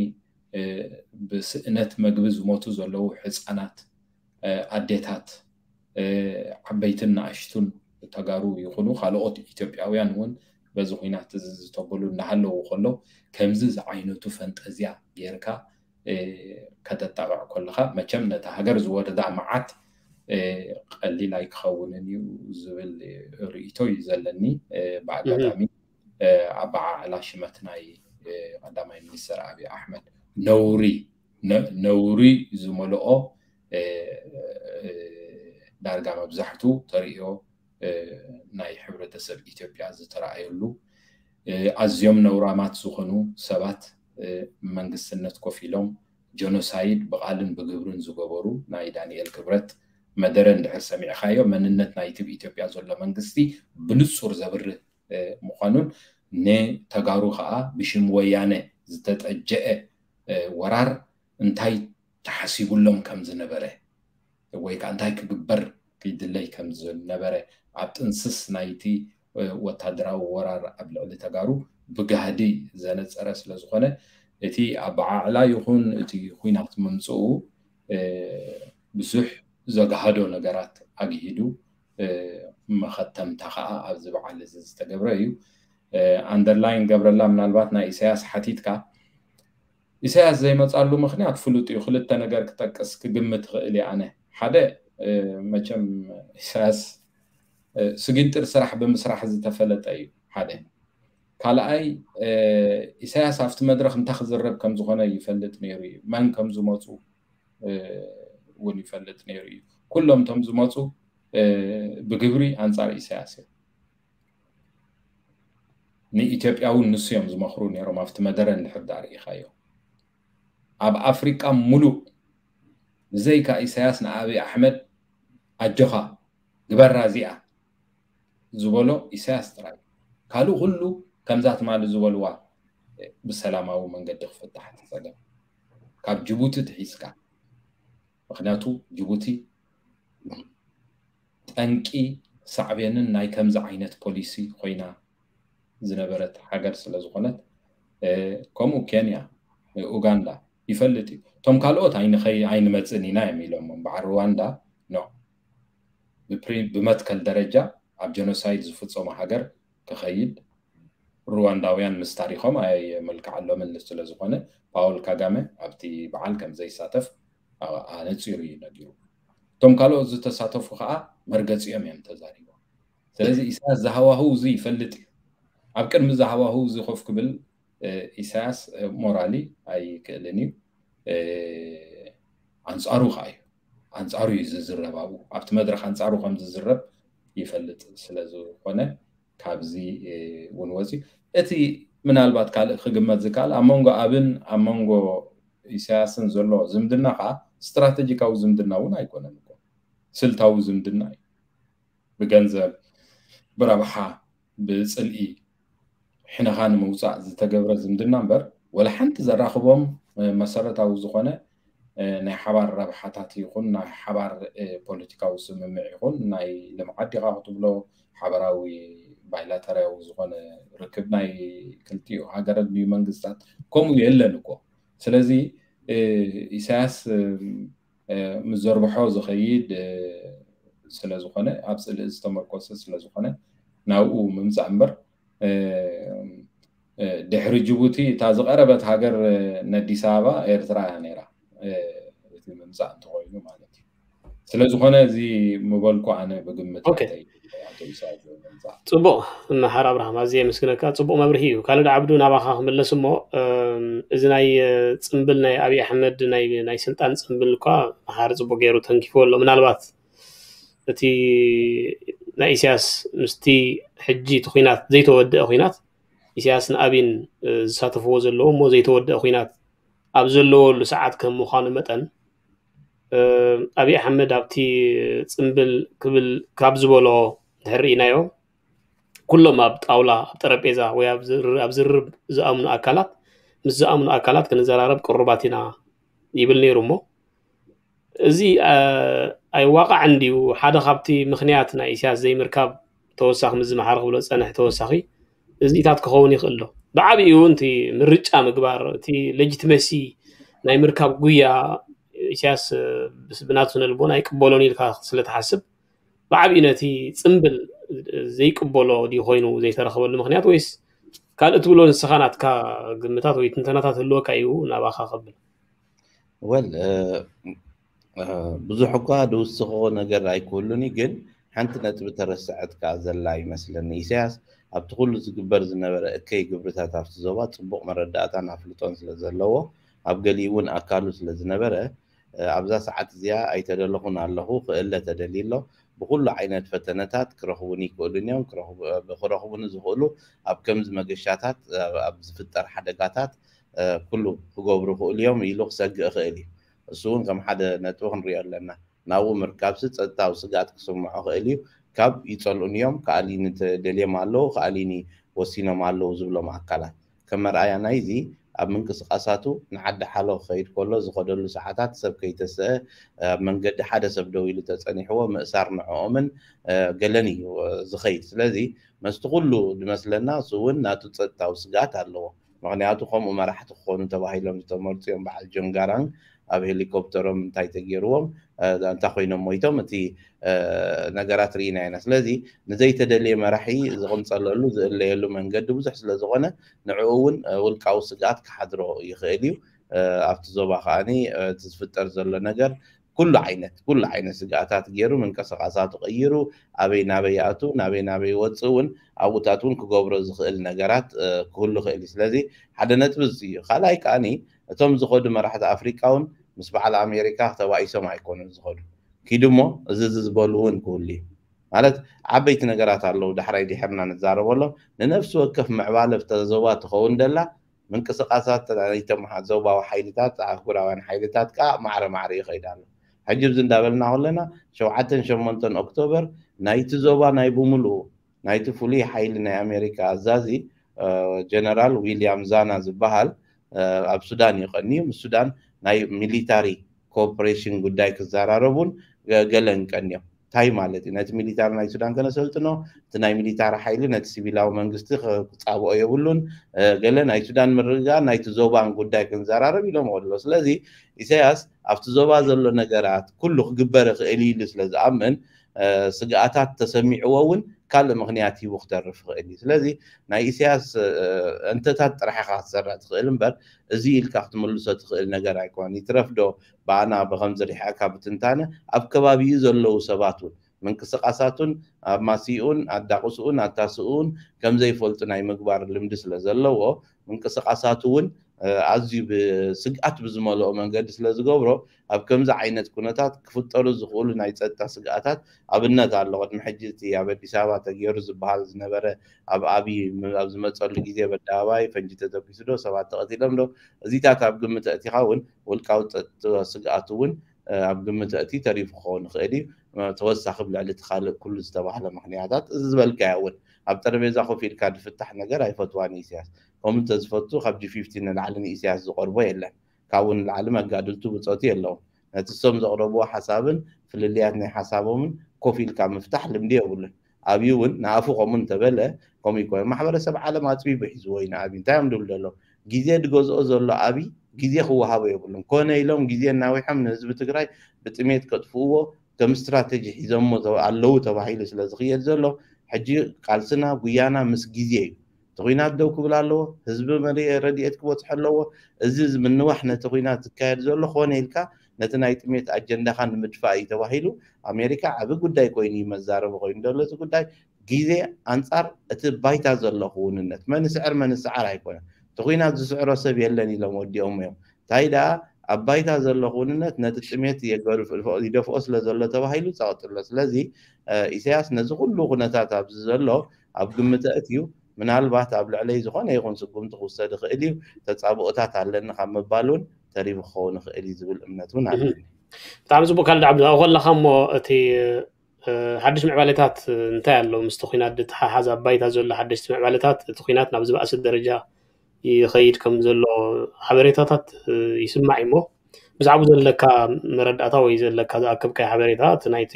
ብስእነት መግቢ ዝሞቱ ዘለዉ ህፃናት ኣዴታት ዓበይትን ንኣሽቱን ተጋሩ ይኹኑ ካልኦት ኢትዮጵያውያን እውን በዚ ኩናት እዚ ዝተበሉ እናሃለዉ ከሎ ከምዚ ዝዓይነቱ ፈንጠዝያ ጌርካ ከተጣቕዕ ከለኻ መቸም ነታ ሃገር ዝወረዳ መዓት ቀሊል ኣይክኸውንን እዩ ዝብል ርእይቶ እዩ ዘለኒ። ብኣጋጣሚ ኣበዓዕላ ሽመት ናይ ቀዳማይ ሚኒስትር ኣብይ ኣሕመድ ነውሪ ነውሪ ዝመልኦ ዳርጋ መብዛሕቱ ተርእዮ ናይ ሕብረተሰብ ኢትዮጵያ ዝተረኣየሉ ኣዝዮም ነውራማት ዝኾኑ ሰባት መንግስትነት ኮፍ ኢሎም ጀኖሳይድ ብቓልን ብግብርን ዝገበሩ ናይ ዳንኤል ክብረት መደረ እንድሕር ሰሚዕኻዮ መንነት ናይቲ ብኢትዮጵያ ዘሎ መንግስቲ ብንጹር ዘብርህ ምዃኑን ንተጋሩ ከዓ ብሽም ወያነ ዝተጠጀአ ወራር እንታይ ተሓሲቡሎም ከም ዝነበረ ወይ ከዓ እንታይ ክግበር ክይድለይ ከም ዝነበረ ኣብ ጥንስስ ናይቲ ወታደራዊ ወራር ኣብ ልዕሊ ተጋሩ ብጋህዲ ዘነፀረ ስለዝኾነ እቲ ኣበዓዕላ ይኹን እቲ ኩናት ምምፅኡ ብዙሕ ዘጋህዶ ነገራት ኣግሂዱ መኸተምታ ከዓ ኣብዚ በዓል እዚ ዝተገብረ እዩ። ኣንደርላይን ገብረላ ምናልባት ናይ ኢሳያስ ሓቲትካ ኢሳያስ ዘይመፃሉ ምክንያት ፍሉጥ እዩ። ክልተ ነገር ክጠቅስ ክግምት ይኽእል እየ ኣነ። ሓደ መቸም ኢሳያስ ስጊንጥር ስራሕ ብምስራሕ ዝተፈለጠ እዩ ሓደ። ካልኣይ ኢሳያስ ኣብቲ መድረክ እንታይ ክዝረብ ከም ዝኾነ ይፈልጥ ነይሩ እዩ። መን ከም ዝመፁ እውን ይፈልጥ ነይሩ እዩ። ኩሎም እቶም ዝመፁ ብግብሪ ኣንፃር ኢሳያስ እዮም። ንኢትዮጵያ እውን ንሱ እዮም ዝመኽሩ ነይሮም ኣብቲ መደረ እንድሕር ዳኣ ርኢኻዮ ኣብ ኣፍሪቃ ሙሉእ ብዘይካ ኢሳያስ ንኣብይ ኣሕመድ ኣጆኻ ግበራ እዚኣ ዝበሎ ኢሳያስ ጥራይ ካልእ ኩሉ ከምዛ ትማሊ ዝበልዋ ብሰላማዊ መንገዲ ክፍታሕ እቲ ፀገም ካብ ጅቡቲ ትሒዝካ ምክንያቱ ጅቡቲ ጠንቂ ሳዕቤንን ናይ ከምዚ ዓይነት ፖሊሲ ኮይና ዝነበረት ሃገር ስለ ዝኾነት፣ ከምኡ ኬንያ፣ ኡጋንዳ ይፈልጥ እዩ። እቶም ካልኦት ኣይንኸይ ኣይንመፅን ኢና እዮም ኢሎም። በዓል ሩዋንዳ ኖ፣ ብመትከል ደረጃ ኣብ ጀኖሳይድ ዝፍፀሙ ሃገር ክኸይድ ሩዋንዳውያን ምስ ታሪኾም ኣየመልክዓሎምን ስለ ዝኾነ፣ ፓውል ካጋመ ኣብቲ በዓል ከም ዘይሳተፍ ኣነፂሩ እዩ ነጊሩ። እቶም ካልኦት ዝተሳተፉ ከዓ መርገፂኦም እዮም ተዛሪቦም። ስለዚ ኢሳያስ ዝሃዋህው እዚ ይፈልጥ እዩ። ኣብ ቅድሚ ዝሃዋህው እዚ ኮፍ ክብል ኢሳያስ ሞራሊ ኣይክእልን እዩ። ኣንፃሩ ከዓ እዩ፣ ኣንፃሩ እዩ ዝዝረብ። ኣብኡ ኣብቲ መድረክ ኣንፃሩ ከም ዝዝረብ ይፈልጥ ስለ ዝኾነ ካብዚ እውን ወፂኡ። እቲ ምናልባት ካልእ ክግመት ዝከኣል ኣብ መንጎ ኣብን ኣብ መንጎ ኢሳያስን ዘሎ ዝምድና ከዓ ስትራቴጂካዊ ዝምድና እውን ኣይኮነን እኮ፣ ስልታዊ ዝምድና እዩ። ብገንዘብ፣ ብረብሓ፣ ብፅልኢ ሕነኻ ንምውፃእ ዝተገብረ ዝምድና እምበር ወላ ሓንቲ ዘራኽቦም መሰረታዊ ዝኾነ ናይ ሓባር ረብሓታት ይኹን ናይ ሓባር ፖለቲካዊ ስምምዕ ይኹን ናይ ልምዓት ዲኻ ክትብሎ ሓበራዊ ባይላተራዊ ዝኾነ ርክብ ናይ ክልቲኡ ሃገራት ድዩ መንግስታት ከምኡ የለን እኮ። ስለዚ ኢሳያስ ምስ ዘርብሖ ዝኸይድ ስለ ዝኾነ ኣብ ፅልኢ ዝተመርኮሰ ስለ ዝኾነ ናብኡ ምምፃእ እምበር ድሕሪ ጅቡቲ እታ ዝቐረበት ሃገር ነዲስ ኣበባ ኤርትራ እያ ነይራ። እቲ ምምፃእ እንተኮይኑ ማለት እዩ። ስለ ዝኾነ እዚ ምበልኩ ኣነ ብግምት ጽቡቕ መሓር ኣብርሃም ኣዝየ የመስግነካ። ጽቡቕ መብርሂ እዩ። ካልድ ዓብዱ ናባኻ ክምለስ እሞ እዚ ናይ ጽምብል ናይ ኣብይ ኣሕመድ ናይ ስልጣን ጽምብል እኳ መሓር ጽቡቕ ገይሩ ተንኪፍዎ ኣሎ። ምናልባት እቲ ናይ ኢሳያስ ምስቲ ሕጂ እቲ ኹናት ዘይተወደአ ኹናት ኢሳያስ ንኣብይን ዝሳተፍዎ ዘለዉ እሞ ዘይተወደአ ኹናት ኣብ ዘለወሉ ሰዓት ከም ምዃኑ መጠን ኣብይ ኣሕመድ ኣብቲ ጽምብል ክብል ካብ ዝበሎ እንድሕር ርኢናዮ ኩሎም ኣብ ጣውላ ኣብ ጠረጴዛ ወይ ኣብ ዝርርብ ዝኣምኑ ኣካላት ምስ ዝኣምኑ ኣካላት ክንዘራረብ ቅሩባት ኢና ይብል ነይሩ እሞ እዚ ኣይዋቃዕን ድዩ? ሓደ ካብቲ ምኽንያት ናይ ኢሳያስ ዘይምርካብ ተወሳኺ ምስ ዝመሓረ ክብሎ ዝጸንሐ ተወሳኺ እዚታት ክኸውን ይኽእል ዶ? ብዓብኡ እውን እቲ ምርጫ ምግባር እቲ ሌጂትመሲ ናይ ምርካብ ጉያ ኢሳያስ ብናቱ ስነ ልቦና ኣይቅበሎን ኢልካ ስለ ትሓስብ ብዓብኡ ነቲ ጽምብል ዘይቅበሎ ድዩ ኮይኑ ዘይተረኸበሉ ምኽንያት ወይስ ካልእ ትብሎ ንስኻ ናትካ ግምታት ወይ ትንተናታት ህልወካ እዩ ናባኻ ከብል ወል ብዙሕ እኳ ድውስኾ ነገር ኣይክህሉን እዩ ግን ሓንቲ ነጥቢ ተረስዐት ከኣ ዘላ ይመስለኒ ኢሳያስ ኣብቲ ኩሉ ዝግበር ዝነበረ እከይ ግብርታት ኣብቲ ዞባ ጽቡቕ መረዳእታን ኣፍልጦን ስለ ዘለዎ ኣብ ገሊኡ እውን ኣካሉ ስለ ዝነበረ ኣብዛ ሰዓት እዚኣ ኣይተደለኹን ኣለኹ ክእለ ተደልዩ ኣሎ ብኩሉ ዓይነት ፈተነታት ክረኽቡኒ ይክእሉን እዮም ክረኽቡኒ ዝኽእሉ ኣብ ከምዚ መገሻታት ኣብ ዝፍጠር ሓደጋታት ኩሉ ክገብሩ ይኽእሉ እዮም ኢሉ ክሰግእ ይኽእል እዩ እሱ እውን ከም ሓደ ነጥቢ ክንሪኦ ኣለና ናብኡ ምርካብሲ ጸጥታዊ ስግኣት ክስምዖ ይኽእል እዩ ካብ ይጸልኡኒ እዮም ከኣሊኒ ተደልዮም ኣለዉ ከኣሊኒ ወሲኖም ኣለዉ ዝብሎም ኣካላት ከም መርኣያ ናይዚ ኣብ ምንቅስቃሳቱ ንዓዲ ሓሎ ክኸይድ ከሎ ዝኸደሉ ሰዓታት ሰብ ከይተሰአ ኣብ መንገዲ ሓደ ሰብ ደው ኢሉ ተጸኒሕዎ ምእሳር ንዕኦምን ገለን እዩ ዝኸይድ ስለዚ መስቲ ኩሉ ዝመስለና እሱ እውን ናቱ ጸጥታዊ ስግኣት ኣለዎ ምክንያቱ ከምኡ መራሕቲ ክኾኑ ተባሂሎም ዝተመርፁ እዮም በዓል ጆን ጋራንግ ኣብ ሄሊኮፕተሮም እንታይ ተገይርዎም እንታይ ኮይኖም ሞይቶም እቲ ነገራት ርኢና ኢና ስለዚ ንዘይተደልየ መራሒ ዝቕንፀለሉ ዝእለየሉ መንገዲ ብዙሕ ስለ ዝኾነ ንዕኡ እውን ውልቃዊ ስግኣት ክሓድሮ ይኽእል እዩ ኣብቲ ዞባ ከዓኒ እቲ ዝፍጠር ዘሎ ነገር ኩሉ ዓይነት ኩሉ ዓይነት ስግኣታት ገይሩ ምንቅስቃሳቱ ቀይሩ ኣበይ ናበይ ይኣቱ ናበይ ናበይ ይወፅእ እውን ኣብኡታት እውን ክገብሮ ዝኽእል ነገራት ክህሉ ይኽእል እዩ ስለዚ ሓደ ነጥቢ እዚ እዩ ካልኣይ ከዓኒ እቶም ዝኸዱ መራሕቲ ኣፍሪቃ እውን ምስ በዓል ኣሜሪካ ተባኢሶም ኣይኮኑን ዝኸዱ ኪዱ እሞ እዚ እዚ ዝበሉ እውን ክህሉ እዩ ማለት ዓበይቲ ነገራት ኣለዉ ዳሕራይ ድሕርና ንዛረበሎም ንነፍሲ ወከፍ ምዕባለ ብተዘባ ትኸውን ደላ ምንቅስቃሳት ናይቶም ዞባዊ ሓይልታት ኣህጉራውያን ሓይልታት ከዓ ማዕረ ማዕረ ይኸይድ ኣሎ ሕጂ ብዚ እንዳበልና ከለና ሸውዓተን ሸሞንተን ኦክቶበር ናይቲ ዞባ ናይ ብምሉኡ ናይቲ ፍሉይ ሓይሊ ናይ ኣሜሪካ ኣዛዚ ጀነራል ዊልያም ዛና ዝበሃል ኣብ ሱዳን እዩ ቀንዩ ምስ ሱዳን ናይ ሚሊታሪ ኮኦፕሬሽን ጉዳይ ክዘራረቡን ገለን ቀንዮም እንታይ ማለት እዩ? ነቲ ሚሊታሪ ናይ ሱዳን ከነሰልጥኖ፣ እቲ ናይ ሚሊታሪ ሓይሊ ነቲ ሲቪላዊ መንግስቲ ክጻብኦ የብሉን፣ ገለ ናይ ሱዳን ምርግጋእ ናይቲ ዞባን ጉዳይ ክንዘራረብ ኢሎም ኣለዉ። ስለዚ ኢሳያስ ኣብቲ ዞባ ዘሎ ነገራት ኩሉ ክግበር ይኽእል ኢሉ ስለ ዝኣምን፣ ስግኣታት ተሰሚዕዎ እውን ካልእ ምኽንያት ሂቡ ክተርፍ ይኽእል እዩ። ስለዚ ናይ ኢሳያስ እንተታት ጥራሕ ኢኻ ክትሰራ ትኽእል እምበር፣ እዚ ኢልካ ክትምልሶ ትኽእል ነገር ኣይኮነን። ይትረፍ ዶ ብኣና ብኸምዚ ሪሕዕካ ብትንታነ ኣብ ከባቢኡ ዘለዉ ሰባት እውን ምንቅስቃሳቱን ኣማሲኡን ኣዳቕስኡን ኣታስኡን ከም ዘይፈልጡ ናይ ምግባር ልምዲ ስለ ዘለዎ፣ ምንቅስቃሳቱ እውን ኣዝዩ ብስግኣት ብዝመልኦ መንገዲ ስለ ዝገብሮ፣ ኣብ ከምዚ ዓይነት ኩነታት ክፍጠሩ ዝኽእሉ ናይ ጸጥታ ስግኣታት ኣብነት ኣሎ። ቅድሚ ሕጂ እቲ ኣብ ኣዲስ ኣበባ ተገይሩ ዝበሃል ዝነበረ፣ ኣብ ኣብይ ኣብ ዝመጸሉ ግዜ በኣደባባይ ፈንጂ ተተኪሱ ዶ ሰባት ተቐቲሎም ዶ፣ እዚታት ኣብ ግምት ኣእቲኻ እውን ውልቃዊ ጸጥታ ስግኣት እውን ኣብ ግምት ኣእትዩ ተሪፉ ክኸውን ይኽእል እዩ። ተወሳኺ ብልዕሊ እቲ ካልእ ኩሉ ዝተባህለ ምኽንያታት፣ እዚ ዝበልካዮ እውን ኣብ ጠረጴዛ ኮፍ ኢልካ ዝፍታሕ ነገር ኣይፈትዋን እዩ ኢሳያስ። ከምኡ እንተዝፈቱ ካብ ጂ ፊፍቲ ንላዕሊ ንኢሳያስ ዝቐርቦ የለን። ካብኡ ንላዕሊ መጋድልቱ ብጾቱ የለውን። ነቲ እሶም ዘቕረብዎ ሓሳብን ፍልልያት ናይ ሓሳቦምን ኮፍ ኢልካ ምፍታሕ ልምዲ የብሉን። ኣብዩ እውን ንኣፉ ከምኡ እንተበለ፣ ከምኡ ይኮነ። ማሕበረሰብ ዓለም ኣጽቢቡ ሒዝዎ እዩ ንኣብዩ። እንታይ እዮም ድብሉ ዘለዉ? ግዜ ዝገዝኦ ዘሎ ኣብይ ግዜ ክወሃቦ የብሉን። ኮነ ኢሎም ግዜ እናዊሖም ንህዝቢ ትግራይ ብጥሜት ከጥፍእዎ ከም ስትራተጂ ሒዞሞ ኣለዉ ተባሂሉ ስለ ዝኽየድ ዘሎ፣ ሕጂ ቃልስና ጉያና ምስ ግዜ እዩ። እቲ ኩናት ደው ክብል ኣለዎ። ህዝቢ መሪ ረድኤት ክበፅሖ ኣለዎ። እዚ ምንዋሕ ነቲ ኩናት ዝካየድ ዘሎ ኮነ ኢልካ ነቲ ናይ ጥሜት ኣጀንዳኻ ንምድፋእ እዩ ተባሂሉ ኣሜሪካ ዓቢ ጉዳይ ኮይኑ እዩ መዛረቢ ኮይኑ ዘሎ። እዚ ጉዳይ ግዜ ኣንጻር እቲ ባይታ ዘሎ ክውንነት፣ መን ስዕር መን ስዓር ኣይኮነን። እቲ ኩናት ዝስዕሮ ሰብ የለን ኢሎም ወዲኦም እዮም። እንታይ ደኣ ኣብ ባይታ ዘሎ ክውንነት ነቲ ጥሜት የገርፍ-፣ ይደፍኦ ስለ ዘሎ ተባሂሉ ጸቕጥሎ። ስለዚ ኢሳያስ ነዚ ኩሉ ኩነታት ኣብዚ ዘሎ ኣብ ግምት ኣእትዩ ምናልባት ኣብ ልዕለይ ዝኾነ ይኹን ስጉምቲ ክውሰድ ይኽእል እዩ፣ ተጻብኦታት ኣለኒ ካብ ምባል እውን ተሪፉ ክኸውን ይኽእል እዩ ዝብል እምነት እውን ኣለኒ። ብጣዕሚ ጽቡቅ ካልድ ዓብዱ ኣብኡ ከለካ እሞ እቲ ሓድሽ ምዕባለታት እንታይ ኣሎ ምስቲ ኩናት ዝተሓሓዝ ኣብ ባይታ ዘሎ ሓደሽቲ ምዕባለታት እቲ ኩናት ናብ ዝበኣሰ ደረጃ ይኸይድ ከም ዘሎ ሓበሬታታት ይስማዕ እሞ ብዛዕባኡ ዘለካ መረዳእታ ወይ ዘለካ ዝኣከብካዮ ሓበሬታ እቲ ናይቲ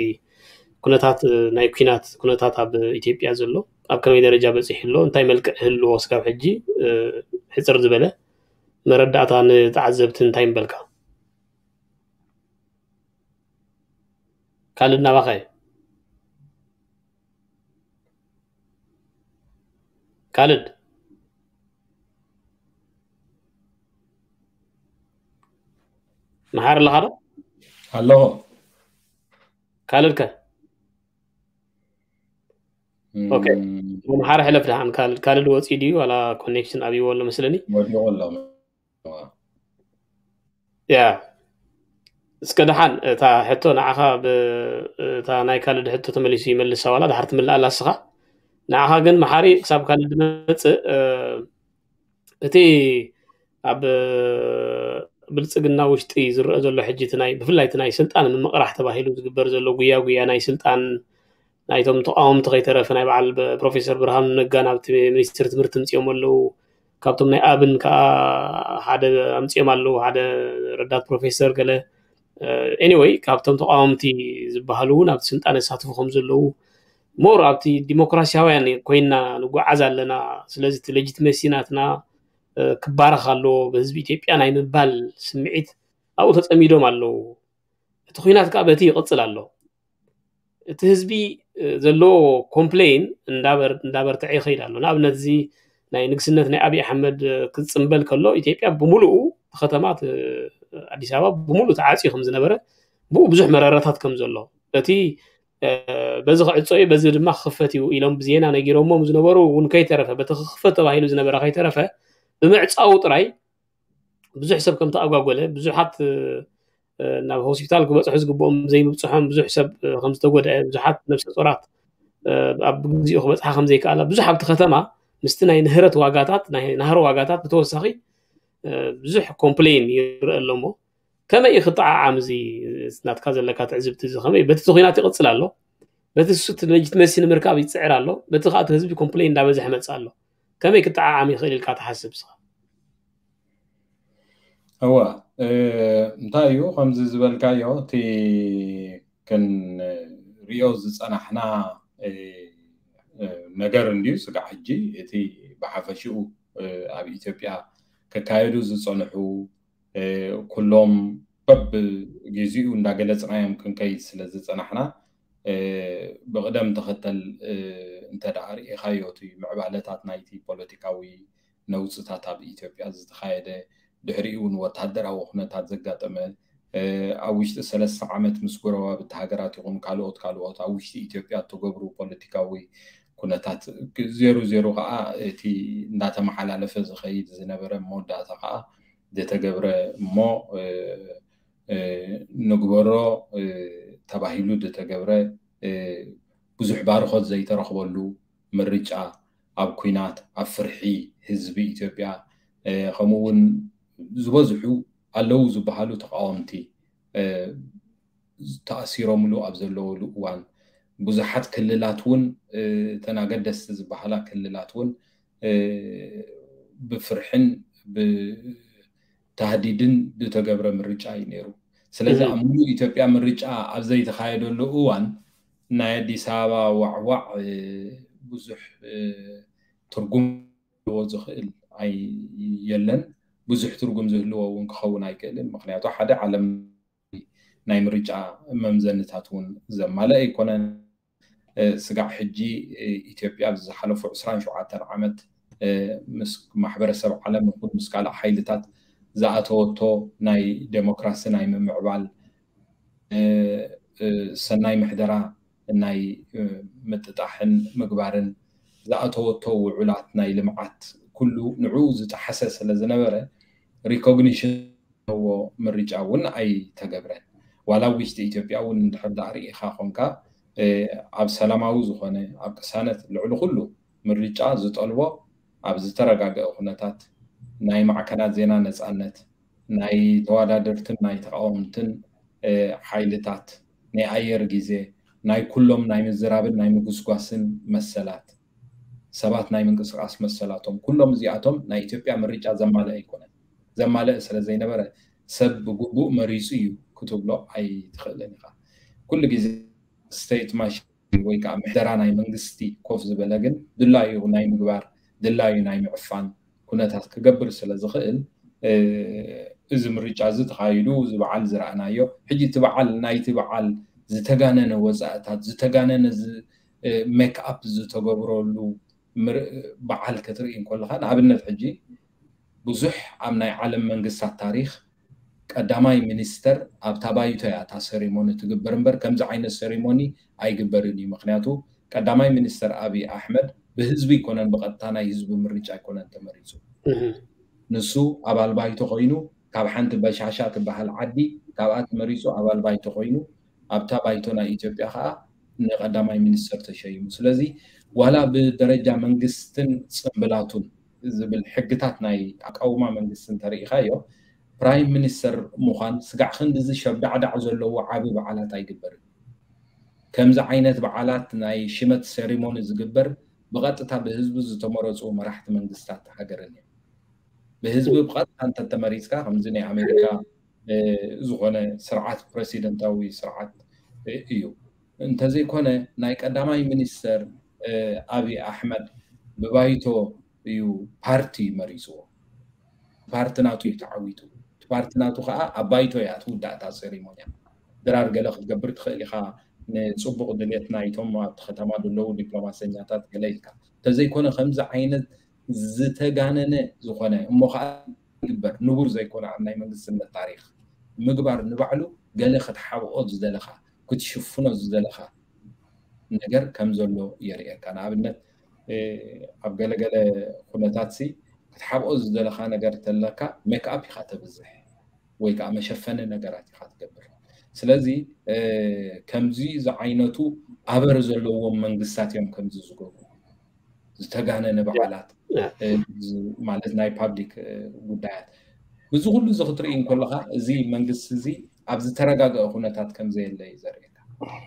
ኩነታት ናይ ኩናት ኩነታት ኣብ ኢትዮጵያ ዘሎ ኣብ ከመይ ደረጃ በፂሑ ኣሎ እንታይ መልክዕ ህልዎ ስጋብ ሕጂ ሕፅር ዝበለ መረዳእታ ንተዓዘብቲ እንታይ ምበልካ? ካልድ ናባኸ ካልድ መሓር ኣለኻ ዶ? ኣለኹ። ካልድ ከ? ኦኬ። መሓር ሕለፍ ደሓን ካልድ ካልድ ወፂኡ ድዩ ዋላ ኮኔክሽን ኣብይዎ ኣሎ መስለኒ። ወዲቑ ኣሎ። ያ እስከ ደሓን እታ ሕቶ ንዓኻ እታ ናይ ካልድ ሕቶ ተመሊሱ ይመልሳ ዋላ ድሓር ትምልኣላ እስኻ ንዓኻ ግን መሓሪ ክሳብ ካልድ መፅእ እቲ ኣብ ብልፅግና ውሽጢ ዝረአ ዘሎ ሕጂ እቲ ናይ ብፍላይ እቲ ናይ ስልጣን ምምቕራሕ ተባሂሉ ዝግበር ዘሎ ጉያ ጉያ ናይ ስልጣን ናይቶም ተቃወምቲ ከይተረፈ ናይ በዓል ፕሮፌሰር ብርሃኑ ነጋ ናብቲ ሚኒስትር ትምህርቲ ምፅኦም ኣለዉ ካብቶም ናይ ኣብን ከዓ ሓደ ኣምፅኦም ኣለዉ ሓደ ረዳት ፕሮፌሰር ገለ anyway ካብቶም ተቃወምቲ ዝበሃሉ እውን ኣብቲ ስልጣን የሳትፉ ከም ዘለዉ more ኣብቲ ዲሞክራሲያውያን ኮይና ንጓዓዝ ኣለና ስለዚ እቲ legitimacy ናትና ክባረኽ ኣለዎ ብህዝቢ ኢትዮጵያ ናይ ምባል ስምዒት ኣብኡ ተፀሚዶም ኣለዉ እቲ ኩናት ከዓ በቲ ይቕፅል ኣሎ እቲ ህዝቢ ዘለዎ complain እንዳበርትዐ ይኸይድ ኣሎ ንኣብነት እዚ ናይ ንግስነት ናይ ኣብይ ኣሕመድ ክፅምበል ከሎ ኢትዮጵያ ብምሉኡ ከተማ ኣዲስ ኣበባ ብምሉእ ተዓፅዩ ከም ዝነበረ ብኡ ብዙሕ መረረታት ከም ዘሎ እቲ በዚ ክዕፆ እዩ በዚ ድማ ክኽፈት እዩ ኢሎም ብዜና ነጊሮሞም ዝነበሩ እውን ከይተረፈ በቲ ክኽፈት ተባሂሉ ዝነበረ ከይተረፈ ብምዕፃው ጥራይ ብዙሕ ሰብ ከም ተኣጓጎለ ብዙሓት ናብ ሆስፒታል ክበፅሑ ዝግብኦም ዘይምብፅሖም ብዙሕ ሰብ ከም ዝተጎድአ ብዙሓት ነብሰ ፆራት ኣብ ግዜኡ ክበፅሓ ከም ዘይከኣላ ብዙሕ ኣብቲ ከተማ ምስቲ ናይ ንህረት ዋጋታት ናይ ናህሪ ዋጋታት ብተወሳኺ ብዙሕ complain ይረአ ኣሎ እሞ ከመይ እዩ ክጠዓዓም እዚ ናትካ ዘለካ ትዕዝብቲ እዚ ከመይ በቲ ኩናት ይቕፅል ኣሎ በቲ እሱ እቲ legitimacy ንምርካብ ይፅዕር ኣሎ በቲ ከዓ ህዝቢ complain እንዳበዝሐ መፅእ ኣሎ ከመይ ክጠዓዓም ይኽእል ኢልካ ትሓስብ ስኻ እወ እንታይ እዩ ከምዚ ዝበልካዮ እቲ ክንሪኦ ሪኦ ዝፀናሕና ነገር እንድዩ። ስጋዕ ሕጂ እቲ ብሓፈሽኡ ኣብ ኢትዮጵያ ክካየዱ ዝፀንሑ ኩሎም በብግዚኡ እንዳገለፅናዮም ክንከይድ ስለ ዝፀናሕና፣ ብቕደም ተኸተል እንተ ደኣ ርኢኻዮ፣ እቲ ምዕባለታት ናይቲ ፖለቲካዊ ነውፅታት ኣብ ኢትዮጵያ ዝተኻየደ፣ ድሕሪኡ እውን ወታደራዊ ኩነታት ዘጋጠመ፣ ኣብ ውሽጢ ሰለስተ ዓመት ምስ ጎረባብቲ ሃገራት ይኹን ካልኦት ካልኦት ኣብ ውሽጢ ኢትዮጵያ እተገብሩ ፖለቲካዊ ኩነታት፣ ዜሩ ዜሩ ከዓ እቲ እንዳተመሓላለፈ ዝኸይድ ዝነበረ መወዳእታ ከዓ ዝተገብረ እሞ ንግበሮ ተባሂሉ ዝተገብረ፣ ብዙሕ ባርኾት ዘይተረኽበሉ ምርጫ፣ ኣብ ኲናት፣ ኣብ ፍርሒ ህዝቢ ኢትዮጵያ፣ ከምኡ እውን ዝበዝሑ ኣለዉ ዝበሃሉ ተቃወምቲ ተኣሲሮምሉ ኣብ ዘለውሉ እዋን፣ ብዙሓት ክልላት እውን፣ እተን ኣገደስቲ ዝበሃላ ክልላት እውን ብፍርሕን ብታህዲድን ዝተገብረ ምርጫ እዩ ነይሩ። ስለዚ ኣብ ሙሉእ ኢትዮጵያ ምርጫ ኣብ ዘይተኻየደሉ እዋን፣ ናይ ኣዲስ ኣበባ ዋዕዋዕ ብዙሕ ትርጉም ክህልዎ ዝኽእል ኣይ የለን። ብዙሕ ትርጉም ዝህልዎ እውን ክኸውን ኣይክእልን። ምክንያቱ ሓደ ዓለም ናይ ምርጫ መምዘንታት እውን ዘማልአ ኣይኮነን። ስጋዕ ሕጂ ኢትዮጵያ ኣብ ዝሓለፉ ዕስራን ሸውዓተን ዓመት ምስ ማሕበረሰብ ዓለም ይኹን ምስ ካልእ ሓይልታት ዝኣተወቶ ናይ ዴሞክራሲ ናይ ምምዕባል፣ ሰናይ ምሕደራ ናይ ምጥጣሕን ምግባርን ዝኣተወቶ ውዑላት ናይ ልምዓት ኩሉ ንዕኡ ዝጠሓሰ ስለ ዝነበረ፣ ሪኮግኒሽን ዘለዎ ምርጫ እውን ኣይተገብረን። ዋላ ኣብ ውሽጢ ኢትዮጵያ እውን እንድሕር ደኣ ርኢኻ ኮንካ፣ ኣብ ሰላማዊ ዝኾነ፣ ኣብ ቅሳነት፣ ልዕሊ ኩሉ ምርጫ ዝጠልቦ ኣብ ዝተረጋገአ ኩነታት ናይ ማዕከናት ዜና ነፃነት፣ ናይ ተወዳደርትን ናይ ተቃወምትን ሓይልታት፣ ናይ ኣየር ግዜ፣ ናይ ኩሎም ናይ ምዝራብን ናይ ምጉስጓስን መሰላት፣ ሰባት ናይ ምንቅስቃስ መሰላቶም፣ ኩሎም እዚኣቶም ናይ ኢትዮጵያ ምርጫ ዘማልአ ኣይኮነን። ዘማልአ ስለ ዘይነበረ ሰብ ብግቡእ መሪፁ እዩ ክትብሎ ኣይትኽእልን ኢኻ። ኩሉ ግዜ ስቴት ማሽን ወይ ከዓ ምሕደራ ናይ መንግስቲ ኮፍ ዝበለ ግን ድላዩ ናይ ምግባር ድላዩ ናይ ምዕፋን ኩነታት ክገብር ስለ ዝኽእል፣ እዚ ምርጫ እዚ ተኻይዱ፣ እዚ በዓል ዝረኣናዮ፣ ሕጂ እቲ በዓል ናይቲ በዓል ዝተጋነነ ወፃእታት፣ ዝተጋነነ ሜክኣፕ ዝተገብረሉ በዓል ክትርኢ እንከለኻ፣ ንኣብነት ሕጂ ብዙሕ ኣብ ናይ ዓለም መንግስታት ታሪኽ ቀዳማይ ሚኒስተር ኣብታ ባይቶ እያ እታ ሴሪሞኒ ትግበር እምበር፣ ከምዚ ዓይነት ሴሪሞኒ ኣይግበርን እዩ። ምክንያቱ ቀዳማይ ሚኒስተር ኣብይ ኣሕመድ ብህዝቢ ኣይኮነን፣ ብቐጥታ ናይ ህዝቢ ምርጫ ኣይኮነን ተመሪፁ። ንሱ ኣባል ባይቶ ኮይኑ፣ ካብ ሓንቲ በሻሻ ትበሃል ዓዲ፣ ካብኣ ተመሪፁ ኣባል ባይቶ ኮይኑ፣ ኣብታ ባይቶ ናይ ኢትዮጵያ ከዓ ንቀዳማይ ሚኒስተር ተሸይሙ። ስለዚ ዋላ ብደረጃ መንግስትን ፅምብላቱን ዝብል ሕግታት ናይ ኣቃውማ መንግስቲ እንተርኢኻዮ፣ ፕራይም ሚኒስተር ምዃን ስጋዕ ክንድዚ ሸብዳዕዳዕ ዘለዎ ዓቢ በዓላት ኣይግበርን። ከምዚ ዓይነት በዓላት ናይ ሽመት ሴሪሞኒ ዝግበር ብቐጥታ ብህዝቢ ዝተመረፁ መራሕቲ መንግስታት ሃገርን እዮም። ብህዝቢ ብቐጥታ እንተተመሪፅካ፣ ከምዚ ናይ ኣሜሪካ ዝኾነ ስርዓት፣ ፕረሲደንታዊ ስርዓት እዩ። እንተዘይኮነ ናይ ቀዳማይ ሚኒስተር ኣብይ ኣሕመድ ብባይቶ እዩ ፓርቲ መሪፅዎ። ፓርቲ ናቱ እዩ ተዓዊቱ። ፓርቲ ናቱ ከዓ ኣብ ባይቶ እያ ትውዳእ እታ ሴሪሞንያ። ድራር ገለ ክትገብር ትኽእል ኢኻ፣ ንፅቡቕ ድሌት ናይቶም ኣብቲ ከተማ ዘለዉ ዲፕሎማሰኛታት ገለ ኢልካ። እንተዘይኮነ ከምዚ ዓይነት ዝተጋነነ ዝኾነ እሞ ከዓ ይግበር ንቡር ዘይኮነ ኣብ ናይ መንግስትነት ታሪኽ ምግባር ንባዕሉ ገለ ክትሓብኦ ዝደለኻ፣ ክትሽፍኖ ዝደለኻ ነገር ከም ዘሎ የርእየካ። ንኣብነት ኣብ ገለገለ ኩነታት ሲ ክትሓብኦ ዝደለኻ ነገር ተለካ ሜክኣፕ ኢኻ ተብዝሕ ወይ ከዓ መሸፈኒ ነገራት ኢኻ ትገብር። ስለዚ ከምዚ ዝዓይነቱ ኣበር ዘለዎም መንግስታት እዮም ከምዚ ዝገብሩ። ዝተጋነነ በዓላት ማለት ናይ ፓብሊክ ጉዳያት። እዚ ኩሉ እዚ ክትርኢ እንከለካ እዚ መንግስቲ እዚ ኣብ ዝተረጋገአ ኩነታት ከም ዘየለ እዩ ዘርእየካ።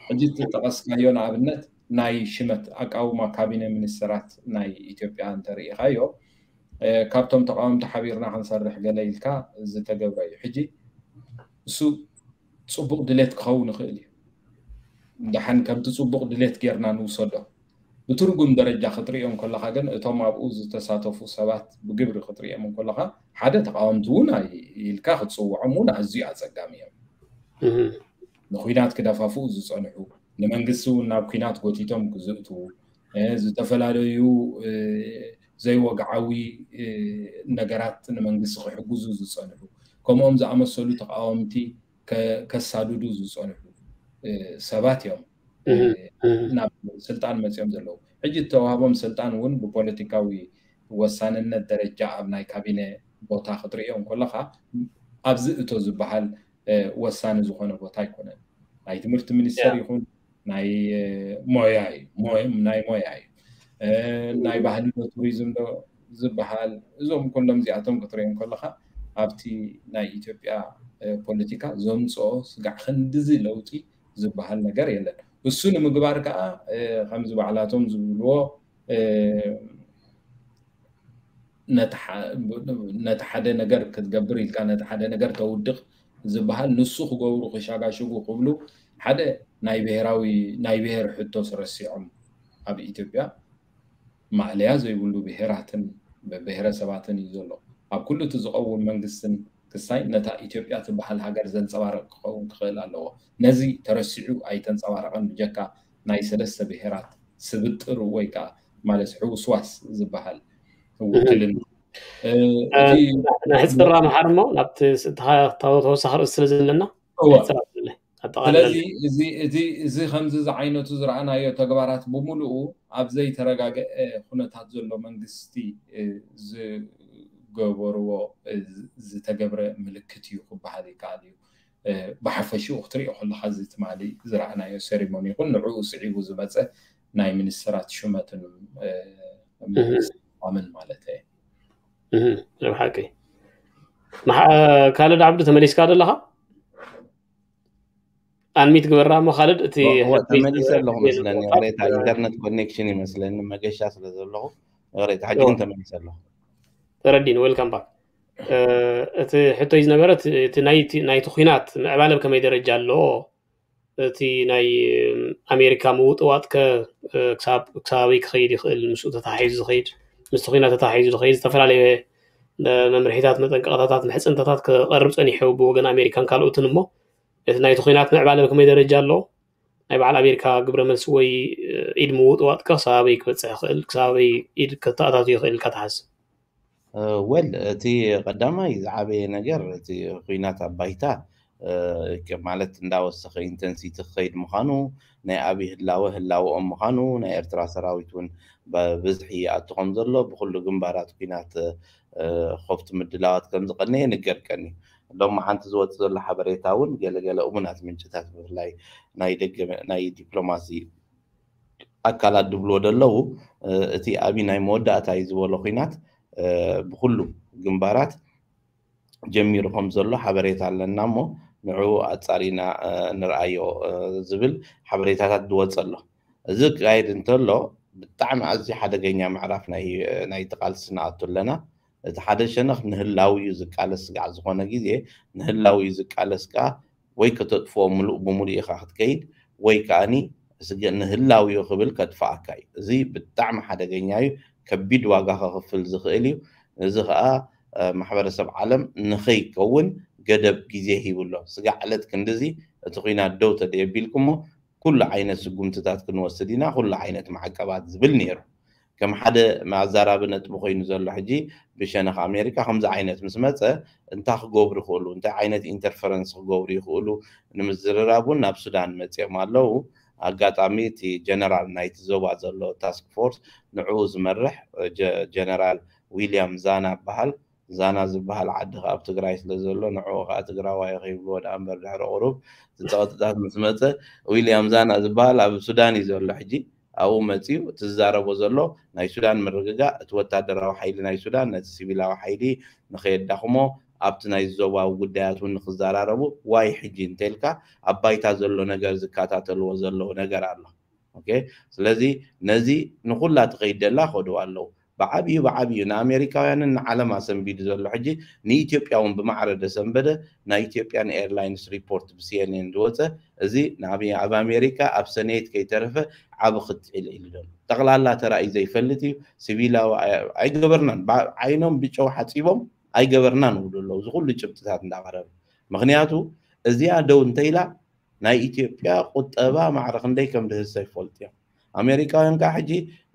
ሕጂ ዝጠቐስካዮ ንኣብነት ናይ ሽመት ኣቃውማ ካቢነ ሚኒስተራት ናይ ኢትዮጵያ እንተርኢኻዮ፣ ካብቶም ተቃወምቲ ሓቢርና ክንሰርሕ ገለ ኢልካ ዝተገብረ እዩ። ሕጂ እሱ ፅቡቕ ድሌት ክኸውን ይኽእል እዩ። ደሓን ከምቲ ጽቡቕ ድሌት ጌርና ንውሰዶ። ብትርጉም ደረጃ ክትርእዮ እንከለኻ ግን እቶም ኣብኡ ዝተሳተፉ ሰባት ብግብሪ ክትርእዮም እንከለኻ ሓደ ተቃወምቲ እውን ኣይ- ኢልካ ክትጽውዖም እውን ኣዝዩ ኣጸጋሚ እዮም። ንኩናት ክደፋፍኡ ዝጸንሑ፣ ንመንግስቲ እውን ናብ ኩናት ጎቲቶም ክዝእትዉ፣ እ፣ ዝተፈላለዩ እ፣ ዘይወግዓዊ እ፣ ነገራት ንመንግስቲ ክሕግዙ ዝጸንሑ፣ ከምኦም ዝኣመሰሉ ተቃወምቲ ከ- ከሳድዱ ዝጸንሑ እ፣ ሰባት እዮም እ፣ ናብ ስልጣን መጺኦም ዘለዉ። ሕጂ እተዋህቦም ስልጣን እውን ብፖለቲካዊ ወሳንነት ደረጃ ኣብ ናይ ካቢነ ቦታ ክትርእዮ እንከለኻ ኣብዚ እቶ ዝበሃል እ፣ ወሳኒ ዝኾነ ቦታ ኣይኮነን። ናይ ትምህርቲ ሚኒስተር ይኹን ናይ እ፣ ሞያ እዩ ሞያ- ናይ ሞያ እዩ እ፣ ናይ ባህሊ ዶ ቱሪዝም ዶ ዝበሃል እዞም ኩሎም እዚኣቶም ክትሪኦም ከለኻ ኣብቲ ናይ ኢትዮጵያ እ፣ ፖለቲካ ዘምፅኦ ስጋዕ ክንድዚ ለውጢ ዝበሃል ነገር የለን። እሱ ንምግባር ከዓ እ፣ ከምዚ ባዕላቶም ዝብልዎ እ፣ ነቲ ሐ- ነቲ ሓደ ነገር ክትገብር ኢልካ ነቲ ሓደ ነገር ተውድቕ ዝበሃል ንሱ ክገብሩ ክሻጋሽጉ ክብሉ ሓደ ናይ ብሔራዊ ናይ ብሔር ሕቶስ ረሲዖም ኣብ ኢትዮጵያ ማእለያ ዘይብሉ ብሔራትን ብሔረሰባትን እዩ ዘሎ። ኣብ ኩሉ እቲ ዝቐውም መንግስትን ክሳይ ነታ ኢትዮጵያ ትበሃል ሃገር ዘንጸባርቕ ክኸውን ክኽእል ኣለዎ። ነዚ ተረሲዑ ኣይተንጸባረቐን ብጀካ ናይ ሰለስተ ብሔራት ስብጥር ወይ ከዓ ማለት ሕውስዋስ ዝበሃል ውክልና እ፣ እቲ ንሕፅር ኣምሓር እሞ ናብቲ ስ- ተኻ- ተወ- ተወሳኺ ርእሲ ስለ ዘለና እወ። ንሕፅር ኣብለለይ ኣጠቓልለለይ ስለዚ እዚ እዚ እዚ ከምዚ ዝዓይነቱ ዝረኣናዮ ተግባራት ብምሉኡ ኣብ ዘይተረጋገአ ኩነታት ዘሎ መንግስቲ እ፣ ዝገበርዎ እ፣ ዝ- ዝተገብረ ምልክት እዩ ክበሃል ይከኣል እዩ። እ፣ ብሓፈሽኡ ክትሪኦ ከለካ እዚ ትማሊ ዝረኣናዮ ሴሪሞኒ ይኹን ንዕኡ ስዒቡ ዝመፀ ናይ ሚኒስትራት ሹመትን እ፣ ምምስጋምን ማለት እየ። እህ፣ ናይ ብሓቂ መሓ- ካልድ ዓብዱ ተመሊስካ ዶ ኣለኻ? ኣንሚት ግበራ እሞ ካልድ እቲ እወ፣ ሕትሚ ተመሊሰ ኣለኹ ዝገበረ መስለኒ። ቁጥር ይቕሬታ፣ ኢንተርነት ኮኔክሽን ይመስለኒ፣ መገሻ ስለ ዘለኹ ይቕሬታ። ሕጂ እወ። ግን ተመሊሰ ኣለኹ። ተረዲን ዌልካም ባክ። እቲ ሕቶይ ዝነበረ እቲ- እቲ ናይ- እቲ- ናይቲ ኩናት ምዕባለ ብከመይ ደረጃ ኣለዎ? እቲ ናይ ኣሜሪካ ምውጥዋጥ ከ ክሳብ ክሳበይ ክኸይድ ይኽእል? ምስኡ ተታሒዙ ዝኸይድ ምስቲ ኩናት ተታሒዙ ዝኸይድ ዝተፈላለየ መምርሒታት፣ መጠንቀቕታታት፣ ምሕፅንታታት ክቐርብ ፀኒሑ ብወገን ኣሜሪካን ካልኦትን እሞ እቲ ናይቲ ኩናት ምዕባለ ብከመይ ደረጃ ኣሎ? ናይ በዓል ኣሜሪካ ግብረ መልሲ ወይ ኢድ ምውጥዋጥ ከ ክሳበይ ክበፅሕ ይኽእል? ክሳበይ ኢድ ከተኣታቱ ይኽእል ኢልካ ትሓስብ? ወል እቲ ቀዳማይ ዝዓበየ ነገር እቲ ኩናት ኣብ ባይታ ማለት እንዳወሰኸ ኢንተንሲቲ ክኸይድ ምዃኑ፣ ናይ ኣብይ ህላወ ህላወኦም ምዃኑ፣ ናይ ኤርትራ ሰራዊት እውን ብብዝሒ ይኣቱ ከም ዘሎ፣ ብኩሉ ግንባራት ኩናት ኮፍቲ ምድላዋት ከም ዝቐነየ ንገር ቀኒ። ሎሚ ሓንቲ ዝወፅ ዘሎ ሓበሬታ እውን ገለገለ እሙናት ምንጭታት ብፍላይ ናይ ደገ ናይ ዲፕሎማሲ ኣካላት ድብልዎ ደለዉ እቲ ኣብይ ናይ መወዳእታ እዩ ዝበሎ ኩናት ብኩሉ ግንባራት ጀሚሩ ከም ዘሎ ሓበሬታ ኣለና እሞ ንዕኡ ኣጻሪና ንርኣዮ ዝብል ሓበሬታታት ዝወፀ ኣሎ። እዚ ክካየድ እንተሎ ብጣዕሚ ኣዝዩ ሓደገኛ ምዕራፍ ናይ ናይቲ ቃልሲ ንኣቱ ኣለና። እቲ ሓደ ሸነኽ ንህላዊ እዩ ዝቃለስ፣ ስጋዕ ዝኾነ ግዜ ንህላዊ እዩ ዝቃለስ ከኣ ወይ ከተጥፍኦ ምሉእ ብምሉእ ኢኻ ክትከይድ ወይ ከኣኒ ንህላዊ እዩ ክብል ከጥፍኣካ እዩ። እዚ ብጣዕሚ ሓደገኛ እዩ፣ ከቢድ ዋጋ ከኽፍል ዝኽእል እዩ። እዚ ከኣ ማሕበረሰብ ዓለም ንኸይከውን ገደብ ግዜ ሂቡ ኣሎ። ስጋዕ ዕለት ክንድዚ እቲ ኲናት ደው ተደየቢልኩሞ ኩሉ ዓይነት ስጉምትታት ክንወስድ ኢና፣ ኩሉ ዓይነት ማዕቀባት ዝብል ነይሩ። ከም ሓደ ኣዛራቢ ነጥቢ ኮይኑ ዘሎ ሕጂ ብሸነኽ ኣሜሪካ ከምዚ ዓይነት ምስ መፀ እንታይ ክገብሩ ይኽእሉ፣ እንታይ ዓይነት ኢንተርፈረንስ ክገብሩ ይኽእሉ ንምዝርራብ እውን ናብ ሱዳን መፂኦም ኣለዉ። ኣጋጣሚ እቲ ጀነራል ናይቲ ዞባ ዘሎ ታስክ ፎርስ ንዕኡ ዝመርሕ ጀነራል ዊልያም ዛና በሃል። ዛና ዝበሃል ዓዲ ከኣ ኣብ ትግራይ ስለ ዘሎ ንዕኡ ከኣ ትግራዋይ ከይብልዎ ደኣ እምበር ድሕሪ ቁሩብ እቲ ፀቕጥታት ምስ መፀ ዊልያም ዛና ዝበሃል ኣብ ሱዳን እዩ ዘሎ ሕጂ። ኣብኡ መፂኡ እቲ ዝዛረቦ ዘሎ ናይ ሱዳን ምርግጋእ፣ እቲ ወታደራዊ ሓይሊ ናይ ሱዳን ነቲ ሲቪላዊ ሓይሊ ንኸየዳኽሞ ኣብቲ ናይ ዞባዊ ጉዳያት እውን ንክዘራረቡ ዋይ ሕጂ እንተልካ ኣብ ባይታ ዘሎ ነገር ዝከታተልዎ ዘለዉ ነገር ኣሎ። ኦኬ፣ ስለዚ ነዚ ንኩላ ትኸይድ ደላ ከድዋ ኣለዉ። ብዓብዩ ብዓብዩ ንኣሜሪካውያንን ንዓለም ኣሰንቢዱ ዘሎ ሕጂ ንኢትዮጵያ እውን ብማዕረ ደሰንበደ ናይ ኢትዮጵያን ኤርላይንስ ሪፖርት ብሲኤንኤን ዝወፀ እዚ ኣብ ኣሜሪካ ኣብ ሰኔት ከይተረፈ ዓብ ክትዒል ኢሉ ዘሎ ጠቕላላ ተራእዩ ዘይፈልጥ እዩ። ሲቪላዊ ኣይገበርናን ዓይኖም ብጨው ሓፂቦም ኣይገበርናን ይብሉ ኣለዉ። እዚ ኩሉ ጭብጥታት እንዳቐረበ ምክንያቱ እዚኣ ደው እንተኢላ ናይ ኢትዮጵያ ቁጠባ ማዕረ ክንደይ ከም ድህሰ ይፈልጡ እዮም። ኣሜሪካውያን ከዓ ሕጂ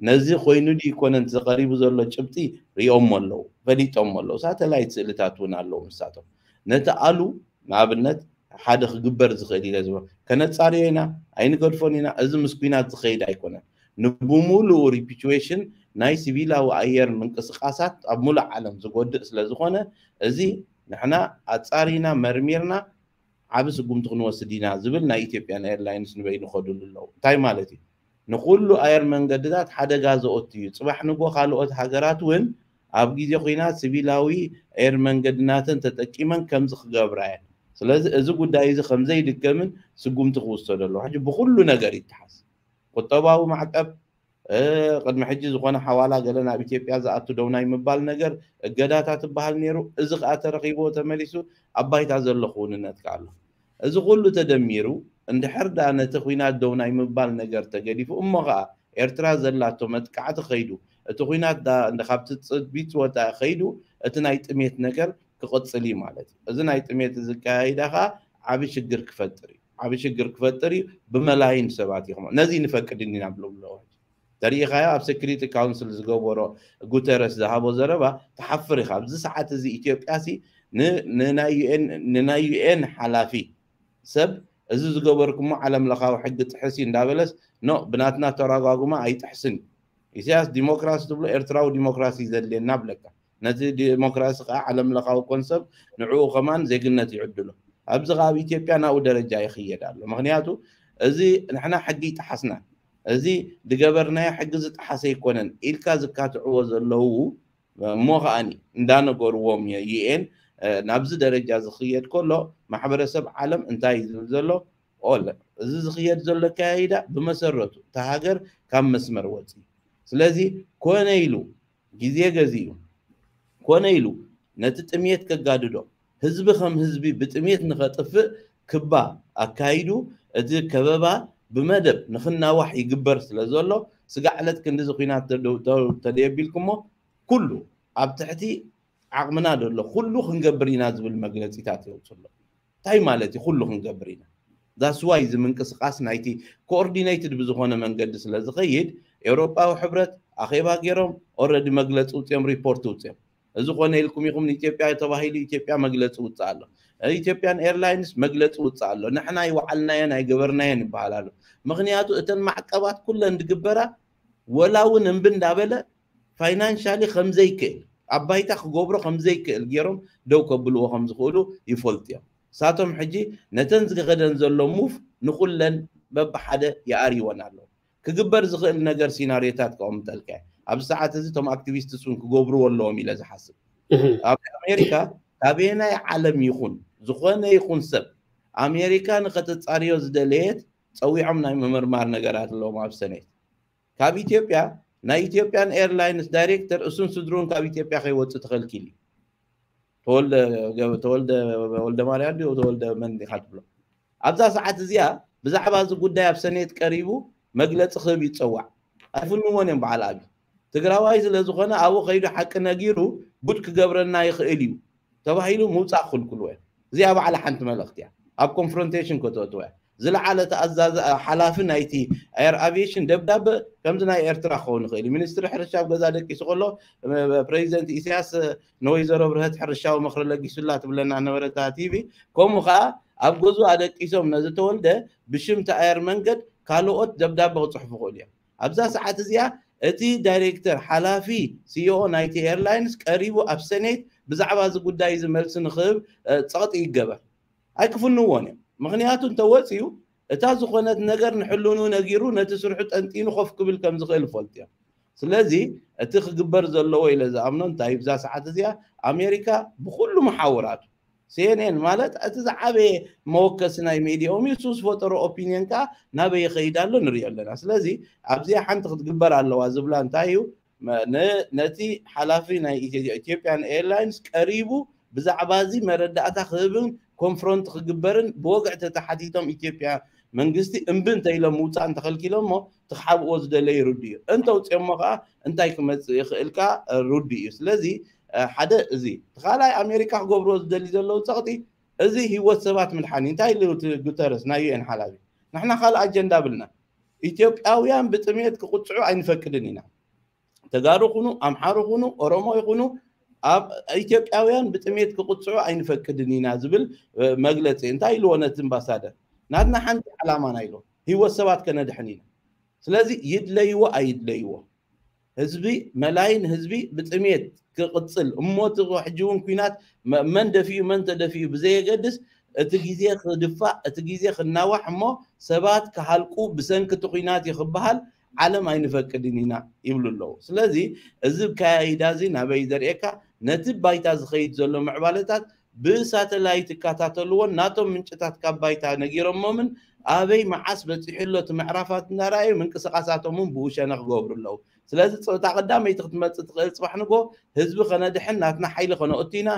ነዚ ኮይኑ ድዩ ይኮነን ዝቀሪቡ ዘሎ ጭብጢ ሪኦሞ ኣለዉ፣ ፈሊጦሞ ኣለዉ። ሳተላይት ስእልታት እውን ኣለዉ ንሳቶም። ነቲ ኣሉ ንኣብነት ሓደ ክግበር ዝኽእል ኢለ ዝብሎ ከነጻርዮ ኢና፣ ኣይንገድፎን ኢና። እዚ ምስ ኲናት ዝኸይድ ኣይኮነን። ንብሙሉኡ ሪፒቹዌሽን ናይ ሲቪላዊ ኣየር ምንቅስቃሳት ኣብ ሙሉእ ዓለም ዝጎድእ ስለ ዝኾነ እዚ ንሕና ኣጻሪና መርሚርና ዓቢ ስጉምቲ ክንወስድ ኢና ዝብል ናይ ኢትዮጵያን ኤርላይንስ ንበይኑ ከድሉ ኣለዉ። እንታይ ማለት እዩ? ንኩሉ ኣየር መንገድታት ሓደጋ ዘኦቱ እዩ። ጽባሕ ንጎ ካልኦት ሃገራት እውን ኣብ ግዜ ኹናት ሲቪላዊ ኤር መንገድናተን ተጠቂመን ከምዚ ክገብራ እየን። ስለዚ እዚ ጉዳይ እዚ ከምዘይድገምን ስጉምቲ ክውሰዶ ኣለዎ። ሕጂ ብኩሉ ነገር ይተሓዝ። ቁጠባዊ ማዕቀብ ቅድሚ ሕጂ ዝኾነ ሓዋላ ገለ ናብ ኢትዮጵያ ዝኣቱ ደው ናይ ምባል ነገር እገዳታት ትበሃል ነይሩ። እዚ ከዓ ተረኺብዎ ተመሊሱ ኣብ ባይታ ዘሎ ክውንነት ከዓ ኣሎ። እዚ ኩሉ ተደሚሩ እንድሕር ደኣ ነቲ ኹናት ደው ናይ ምባል ነገር ተገዲፉ እሞ ከዓ ኤርትራ ዘላቶ መጥቃዕቲ ከይዱ እቲ ኹናት ካብቲ ፅቢት ወፃኢ ከይዱ እቲ ናይ ጥሜት ነገር ክቕፅል እዩ ማለት እዩ። እዚ ናይ ጥሜት ዝካየዳ ከዓ ዓብ ሽግር ክፈጥር እዩ። ዓብ ሽግር ክፈጥር እዩ። ብመላይን ሰባት ይኹም ነዚ ንፈቅድ እንዲና ብሎም ኣለዎ። ተሪኢኻዮ ኣብ ሴኩሪቲ ካውንስል ዝገበሮ ጉተረስ ዝሃቦ ዘረባ ትሓፍር ኢኻ። ኣብዚ ሰዓት እዚ ኢትዮጵያ ሲ ንናይ ዩኤን ሓላፊ ሰብ እዚ ዝገበርኩሞ ዓለም ለኻዊ ሕጊ ጥሕስ እዩ እንዳበለስ ኖ ብናትና ተረጓጉማ ኣይጥሕስን እዩ። ኢሳያስ ዲሞክራሲ ትብሎ ኤርትራዊ ዲሞክራሲ ዘድልየና ብለካ ነቲ ዲሞክራሲ ከዓ ዓለም ለኻዊ ኮንሰፕት ንዕኡ ከማን ዜግነት ይዕድሎ። ኣብዚ ከዓ ኣብ ኢትዮጵያ ናብኡ ደረጃ ይኽየድ ኣሎ። ምክንያቱ እዚ ንሕና ሕጊ ይጠሓስና እዚ ዝገበርናዮ ሕጊ ዝጠሓሰ ኣይኮነን ኢልካ ዝካትዕዎ ዘለዉ እሞ ከዓኒ እንዳነገርዎም ዩኤን ናብዚ ደረጃ ዝኽየድ ከሎ ማሕበረሰብ ዓለም እንታይ እዩ ዝብል ዘሎ? ኦለ እዚ ዝኽየድ ዘሎ ኣካያይዳ ብመሰረቱ እታ ሃገር ካብ መስመር ወፂ። ስለዚ ኮነ ኢሉ ግዜ ገዚኡ ኮነ ኢሉ ነቲ ጥምየት ከጋድዶ ህዝቢ ከም ህዝቢ ብጥምየት ንኸጥፍእ ክባ ኣካይዱ እቲ ከበባ ብመደብ ንኽናዋሕ ይግበር ስለ ዘሎ ስጋዕ ዕለት ክንዲ እዚ ኲናት ተደየቢልኩሞ ኩሉ ኣብ ትሕቲ ዓቕምና ዘሎ ኩሉ ክንገብር ኢና ዝብል መግለፂታት የውፅሎ። እንታይ ማለት እዩ? ኩሉ ክንገብር ኢና። ዛስዋይ እዚ ምንቅስቃስ ናይቲ ኮኦርዲነይትድ ብዝኾነ መንገዲ ስለ ዝኸይድ ኤውሮጳዊ ሕብረት ኣኼባ ገይሮም ኦረዲ መግለፂ ውፅኦም ሪፖርት ውፅኦም እዚ ኮነ ኢልኩም ኢኹም ንኢትዮጵያ ተባሂሉ ኢትዮጵያ መግለፂ ውፅእ ኣሎ። ኢትዮጵያን ኤርላይንስ መግለፂ ውፅእ ኣሎ። ንሕና ይወዓልናየን ኣይገበርናየን ይበሃል ኣሎ። ምክንያቱ እተን ማዕቀባት ኩለን ዝግበራ ወላ እውን እምቢ እንዳበለ ፋይናንሻሊ ከምዘይክእል ኣብ ባይታ ክገብሮ ከምዘይክእል ገይሮም ደው ከብልዎ ከምዝኽእሉ ይፈልጡ እዮም። ሳቶም ሕጂ ነተን ዝገኸደን ዘሎ ሙፍ ንኩለን በብሓደ ይኣርይወን ኣለዉ። ክግበር ዝኽእል ነገር ሲናሪዮታት ከቐምጠልካ እየ። ኣብዚ ሰዓት እዚ እቶም ኣክቲቪስትስ እውን ክገብርዎ ኣለዎም ኢለ ዝሓስብ። ኣብ ኣሜሪካ ካበየናይ ዓለም ይኹን ዝኾነ ይኹን ሰብ ኣሜሪካ ንኸተፃርዮ ዝደለየት ፀዊዖም ናይ ምምርማር ነገራት ኣለዎም ኣብ ሰኔት። ካብ ኢትዮጵያ ናይ ኢትዮጵያን ኤርላይንስ ዳይሬክተር እሱን ስድሩን ካብ ኢትዮጵያ ከይወፅእ ተኸልኪሉ እዩ። ተወልደ ተወልደ ወልደ ማርያም ድዩ ተወልደ መን ኢኻ ትብሎ? ኣብዛ ሰዓት እዚኣ ብዛዕባ እዚ ጉዳይ ኣብ ሰኔት ቀሪቡ መግለፂ ክህብ ይፀዋዕ። ኣይፍንዎን እዮም በዓል ኣብይ ትግራዋይ ስለ ዝኾነ ኣብኡ ከይዱ ሓቂ ነጊሩ ጉድ ክገብረና ይኽእል እዩ ተባሂሉ ምውፃእ ክልክልዎ እዮም። እዚኣ ባዕላ ሓንቲ መልእኽቲ እያ። ኣብ ኮንፍሮንቴሽን ከተእትዎ እያ። ዝለዓለ ተኣዛዚ ሓላፊ ናይቲ ኤር ኣቪዬሽን ደብዳበ ከምዚ ናይ ኤርትራ ክኸውን ይኽእል እዩ። ሚኒስትሪ ሕርሻ ኣብ ገዛ ደቂሱ ከሎ ፕሬዚደንት ኢሳያስ ንወይዘሮ ብርሀት ሕርሻዊ ምኽሪ ለጊሱላ ትብለና ነበረታ ቲቪ። ከምኡ ከዓ ኣብ ገዙ ኣደቂሶም ነዚ ተወልደ ብሽም ተኣየር መንገድ ካልኦት ደብዳበ ክፅሕፉ ክእሉ እዮም። ኣብዛ ሰዓት እዚኣ እቲ ዳይሬክተር ሓላፊ ሲኢኦ ናይቲ ኤርላይንስ ቀሪቡ ኣብ ሰኔት ብዛዕባ እዚ ጉዳይ እዚ መልሲ ንክህብ ፀቕጢ ይገበር። ኣይክፍንዎን እዮም። ምክንያቱ እንተወፅዩ እታ ዝኾነት ነገር ንሕልኑ ነጊሩ ነቲ ስርሑ ጠንጢኑ ኮፍ ክብል ከም ዝኽእል ይፈልጡ እዮም። ስለዚ እቲ ክግበር ዘለዎ ኢለ ዝኣምኖ እንታይ ብዛ ሰዓት እዚኣ ኣሜሪካ ብኩሉ መሓውራቱ ሲኤንኤን ማለት እቲ ዝዓበየ መወከሲ ናይ ሜዲኦም እዩ። እሱ ዝፈጠሮ ኦፒኒየን ከዓ ናበይ ይኸይድ ኣሎ ንሪኦ ኣለና። ስለዚ ኣብዚኣ ሓንቲ ክትግበር ኣለዋ ዝብላ እንታይ እዩ? ነቲ ሓላፊ ናይ ኢትዮጵያን ኤርላይንስ ቀሪቡ ብዛዕባ እዚ መረዳእታ ክህብን ኮንፍሮንት ክግበርን ብወግዒ ተተሓቲቶም ኢትዮጵያ መንግስቲ እምቢ እንተኢሎም ምውፃእ እንተኸልኪሎሞ ትክሓብዎ ዝደለዩ ርዱ እዩ። እንተውፅኦሞ ከዓ እንታይ ክመፅእ ይኽእል ከዓ ርዱ እዩ። ስለዚ ሓደ እዚ እቲ ካልኣይ ኣሜሪካ ክገብርዎ ዝደሊ ዘለዉ ፀቕጢ እዚ ህይወት ሰባት ምድሓን እዩ። እንታይ ኢሉ እቲ ጉተረስ ናይ ዩኤን ሓላፊ? ንሕና ካልእ ኣጀንዳ ብልና። ኢትዮጵያውያን ብጥሜት ክቕፅዑ ኣይንፈቅድን ኢና። ተጋሩ ይኹኑ ኣምሓሩ ይኹኑ ኦሮሞ ይኹኑ ኣብ ኢትዮጵያውያን ብጥሜት ክቕፅዑ ኣይንፈቅድን ኢና ዝብል መግለፂ እንታይ ኢልዎ ነቲ ኣምባሳደር? ናትና ሓንቲ ዓላማና ኢልዎ ህይወት ሰባት ከነድሕን ኢና። ስለዚ ይድለይዎ ኣይድለይዎ ህዝቢ መላይን ህዝቢ ብጥሜት ክቕፅል እሞ እቲ ሕጂ እውን ኩናት መን ደፊኡ መን ተደፊኡ ብዘየገድስ እቲ ግዜ ክድፋእ እቲ ግዜ ክናዋሕ እሞ ሰባት ክሃልቁ ብሰንኪ እቲ ኩናት እዩ ክበሃል ዓለም ኣይንፈቅድን ኢና ይብሉ ኣለዉ። ስለዚ እዚ ኣካያይዳ እዚ ናበይ ዘርእየካ ነቲ ባይታ ዝኸይድ ዘሎ ምዕባለታት ብሳተላይት ይከታተልዎን ናቶም ምንጭታት ካብ ባይታ ነጊሮሞምን ኣበይ መዓስ በፂሑ ኣሎ እቲ ምዕራፋት እናረኣዩ ምንቅስቃሳቶም እውን ብኡ ሸነኽ ክገብሩ ኣለዉ። ስለዚ እታ ቀዳመይቲ ክትመፅእ ትኽእል ፅባሕ ንጎ ህዝቢ ከነድሕን ናትና ሓይሊ ከነእቱ ኢና።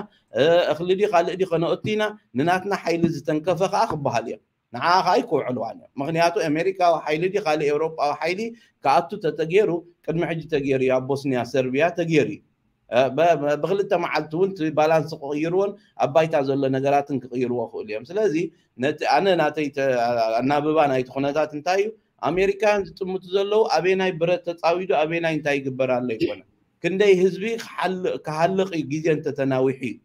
እኽሊ ድዩ ካልእ ድዩ ከነእቱ ኢና። ንናትና ሓይሊ ዝተንከፈ ከዓ ክበሃል እዮም። ንዓ ከዓ ኣይክውዕልዋን እዮም። ምክንያቱ ኣሜሪካዊ ሓይሊ ድዩ ካልእ ኤውሮጳዊ ሓይሊ ክኣቱ ተተገይሩ ቅድሚ ሕጂ ተገይሩ እዩ። ኣብ ቦስኒያ ሰርቢያ ተገይሩ እዩ። ብክልተ መዓልቲ እውን ባላንስ ክቕይርዎን ኣብ ባይታ ዘሎ ነገራትን ክቕይርዎ ክእሉ እዮም። ስለዚ ነቲ ኣነ ናተይ ኣናብባ ናይቲ ኩነታት እንታይ እዩ? ኣሜሪካውያን ዝጥምቱ ዘለዉ ኣበናይ ብረት ተፃዊዱ ኣበናይ እንታይ ይግበር ኣሎ ይኮነ ክንደይ ህዝቢ ክሃልቕ እዩ ግዜ እንተተናዊሑ እዩ።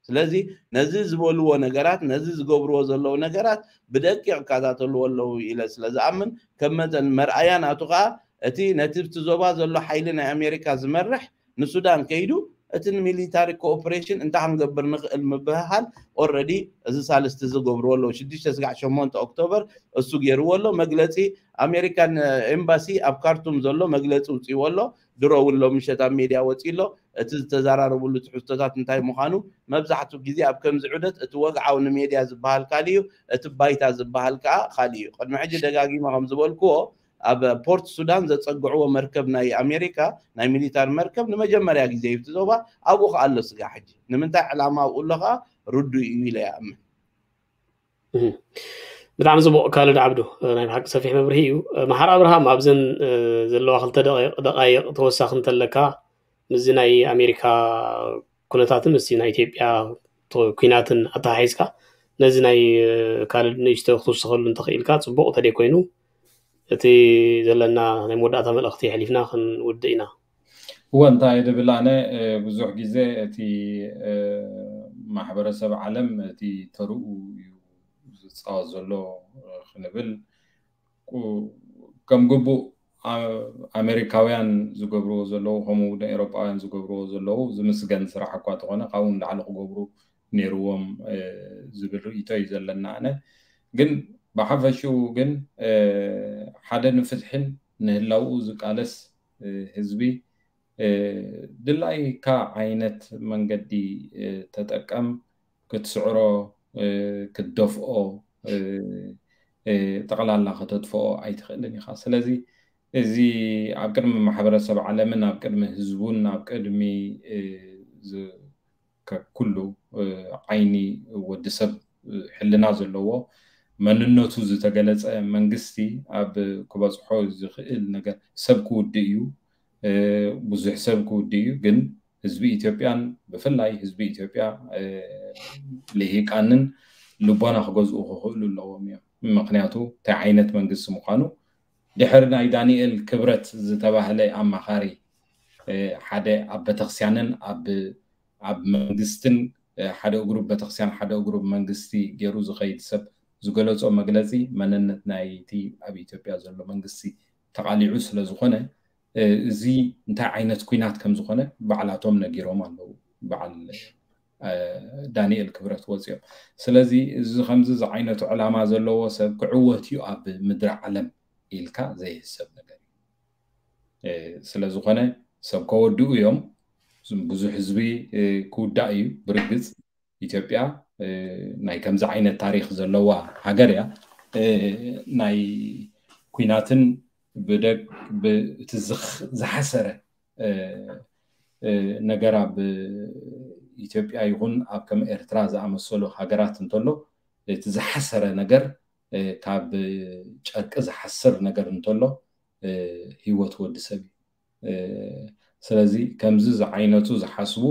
ስለዚ ነዚ ዝበልዎ ነገራት ነዚ ዝገብርዎ ዘለዉ ነገራት ብደቂቕ ይከታተልዎ ኣለዉ ኢለ ስለ ዝኣምን ከም መጠን መርኣያ ናቱ ከዓ እቲ ነቲ ብቲ ዞባ ዘሎ ሓይሊ ናይ ኣሜሪካ ዝመርሕ ንሱዳን ከይዱ እቲ ንሚሊታሪ ኮኦፕሬሽን እንታይ ክንገብር ንኽእል ምብህሃል ኦረዲ እዚ ሳልስቲ ዝገብርዎ ኣለዉ ሽዱሽተ ስጋዕ ሸሞንተ ኦክቶበር እሱ ገይርዎ ኣሎ መግለፂ ኣሜሪካን ኤምባሲ ኣብ ካርቱም ዘሎ መግለፂ ውፅእዎ ኣሎ ድሮ እውን ሎምሸት ኣብ ሜድያ ወፂ ኣሎ እቲ ዝተዘራረብሉ ትሕዝቶታት እንታይ ምዃኑ መብዛሕትኡ ግዜ ኣብ ከምዚ ዑደት እቲ ወግዓዊ ንሜድያ ዝበሃል ካልእ እዩ እቲ ባይታ ዝበሃል ከዓ ካልእ እዩ ቅድሚ ሕጂ ደጋጊመ ከም ዝበልክዎ ኣብ ፖርት ሱዳን ዘፀግዕዎ መርከብ ናይ ኣሜሪካ ናይ ሚሊታር መርከብ ንመጀመርያ ግዜ እዩ እቲ ዞባ ኣብኡ ከዓ ኣሎ ስጋ ሕጂ ንምንታይ ዕላማ ኣብኡ ኣሎ ከዓ ርዱ እዩ ኢለ ይኣምን። ብጣዕሚ ፅቡቅ ካልድ ዓብዱ ናይ ብሓቂ ሰፊሕ መብርሂ እዩ። መሓር ኣብርሃም ኣብዘን ዘለዋ ክልተ ደቃይቅ ተወሳኺ እንተለካ ምስዚ ናይ ኣሜሪካ ኩነታትን ምስዚ ናይ ኢትዮጵያ ኩናትን ኣተሓሒዝካ ነዚ ናይ ካልድ ንእሽቶ ክትውስኸሉ እንተኽኢልካ ፅቡቅ ተደይ ኮይኑ እቲ ዘለና ናይ መወዳእታ መልእኽቲ የሕሊፍና ክንውድእ ኢና። እወ እንታይ ድብል ኣነ ብዙሕ ግዜ እቲ ማሕበረሰብ ዓለም እቲ ተርኡ እዩ ዝፃወት ዘሎ ክንብል ከም ግቡእ ኣሜሪካውያን ዝገብርዎ ዘለዉ ከምኡ እውን ኤሮጳውያን ዝገብርዎ ዘለዉ ዝምስገን ስራሕ እኳ ተኾነ ካብኡ ንላዕሊ ክገብሩ ነይርዎም ዝብል ርእይቶ እዩ ዘለና ኣነ ግን ብሓፈሽኡ ግን ሓደ ንፍትሕን ንህላውኡ ዝቃለስ ህዝቢ ድላይካ ዓይነት መንገዲ ተጠቀም ክትስዕሮ ክትደፍኦ ጠቕላላ ከተጥፍኦ ኣይትኽእልን ኢኻ ስለዚ እዚ ኣብ ቅድሚ ማሕበረሰብ ዓለምን ኣብ ቅድሚ ህዝቡን ኣብ ቅድሚ ኩሉ ዓይኒ ወዲ ሰብ ሕልና ዘለዎ መንነቱ ዝተገለፀ መንግስቲ ኣብ ክበፅሖ ዝኽእል ነገር ሰብ ክውድእ እዩ ብዙሕ ሰብ ክውድእ እዩ ግን ህዝቢ ኢትዮጵያን ብፍላይ ህዝቢ ኢትዮጵያ ልሂቃንን ልቦና ክገዝኡ ክኽእሉ ኣለዎም እዮም ምክንያቱ እንታይ ዓይነት መንግስቲ ምዃኑ ድሕሪ ናይ ዳንኤል ክብረት ዝተባህለ ኣማኻሪ ሓደ ኣብ ቤተክርስቲያንን ኣብ ኣብ መንግስትን ሓደ እግሩ ቤተክርስቲያን ሓደ እግሩ መንግስቲ ገይሩ ዝኸይድ ሰብ ዝገለፆ መግለፂ መንነት ናይቲ ኣብ ኢትዮጵያ ዘሎ መንግስቲ ተቃሊዑ ስለዝኾነ እዚ እንታይ ዓይነት ኩናት ከም ዝኾነ ባዕላቶም ነጊሮም ኣለዉ በዓል ዳንኤል ክብረት ወፂኦም ስለዚ እዚ ከምዚ ዝዓይነቱ ዕላማ ዘለዎ ሰብ ክዕወት እዩ ኣብ ምድሪ ዓለም ኢልካ ዘይህሰብ ነገር እዩ ስለዝኾነ ሰብ ከወድኡ እዮም ብዙሕ ህዝቢ ክውዳእ እዩ ብርግፅ ኢትዮጵያ ናይ ከምዚ ዓይነት ታሪክ ዘለዋ ሃገር እያ ናይ ኩናትን ብደግ እቲ ዝሓሰረ ነገር ኣብ ኢትዮጵያ ይኹን ኣብ ከም ኤርትራ ዝኣመሰሉ ሃገራት እንተሎ እቲ ዝሓሰረ ነገር ካብ ጨርቂ ዝሓስር ነገር እንተሎ ህይወት ወዲ ሰብ እዩ። ስለዚ ከምዚ ዝዓይነቱ ዝሓስቡ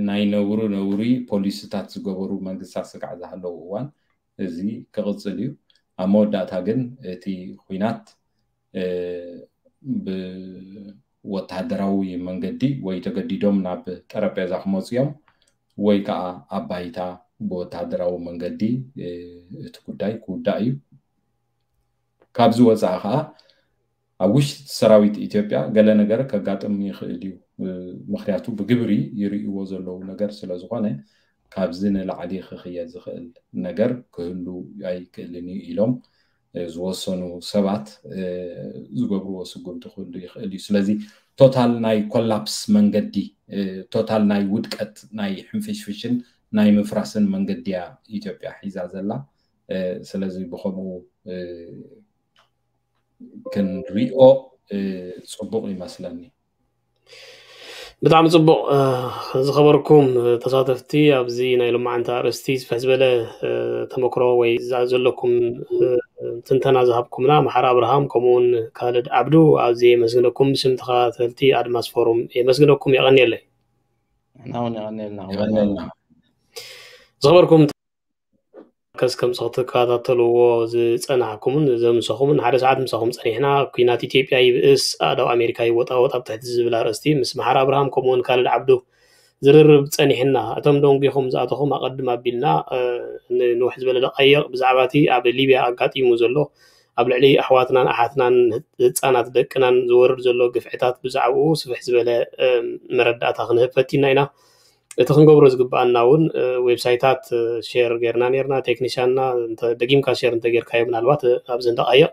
ናይ ነውሪ ነውሪ ፖሊሲታት ዝገበሩ መንግስታት ስጋዕ ዝሃለዉ እዋን እዚ ክቕፅል እዩ። ኣብ መወዳእታ ግን እቲ ኲናት ብወታደራዊ መንገዲ ወይ ተገዲዶም ናብ ጠረጴዛ ክመፁ እዮም ወይ ከዓ ኣብ ባይታ ብወታደራዊ መንገዲ እቲ ጉዳይ ክውዳእ እዩ። ካብዚ ወፃኢ ከዓ ኣብ ውሽጢ ሰራዊት ኢትዮጵያ ገለ ነገር ከጋጥም ይኽእል እዩ። ምክንያቱ ብግብሪ ይርእይዎ ዘለዉ ነገር ስለዝኾነ ካብዚ ንላዕሊ ክኽየድ ዝኽእል ነገር ክህሉ ኣይክእልን እዩ ኢሎም ዝወሰኑ ሰባት ዝገብርዎ ስጉምቲ ክህሉ ይኽእል እዩ። ስለዚ ቶታል ናይ ኮላፕስ መንገዲ፣ ቶታል ናይ ውድቀት፣ ናይ ሕንፍሽፍሽን ናይ ምፍራስን መንገዲ እያ ኢትዮጵያ ሒዛ ዘላ። ስለዚ ብኸምኡ ክንሪኦ ፅቡቕ ይመስለኒ። ብጣዕሚ ፅቡቕ። ዝኸበርኩም ተሳተፍቲ፣ ኣብዚ ናይ ሎማዓንቲ ኣርእስቲ ዝፈሕ ዝበለ ተመክሮ ወይ ዘለኩም ትንተና ዝሃብኩምና መሓር ኣብርሃም ከምኡውን ካልድ ዓብዱ ኣብዚ የመስግነኩም። ብስም ተኸታተልቲ ኣድማስ ፎሩም የመስግነኩም። የቐንየለይ። ንሕና እውን የቐንየልና። የቐንየልና። ዝኸበርኩም ከስ ከም ክትከታተልዎ ዝፀናሕኩምን ዘምሰኹምን ሓደ ሰዓት ምሳኹም ፀኒሕና። ኲናት ኢትዮጵያ ይብእስ፣ ኣእዳው ኣሜሪካ ይወጣወጥ ኣብ ትሕቲ ዝብል ኣርእስቲ ምስ መሓር ኣብርሃም ከምኡውን ካልድ ዓብዱ ዝርርብ ፀኒሕና። እቶም ደንጒኹም ዝኣተኹም ኣቐድም ኣቢልና ንንውሕ ዝበለ ደቃይቕ ብዛዕባ እቲ ኣብ ሊብያ ኣጋጢሙ ዘሎ ኣብ ልዕሊ ኣሕዋትናን ኣሓትናን ህፃናት ደቅናን ዝወርድ ዘሎ ግፍዕታት ብዛዕባኡ ስፍሕ ዝበለ መረዳእታ ክንህብ ፈቲና ኢና። እቲ ክንገብሮ ዝግብኣና እውን ዌብሳይታት ሼር ጌርና ኔርና። ቴክኒሻንና ደጊምካ ሼር እንተጌርካዮ ምናልባት ኣብዚ ንደቃይቕ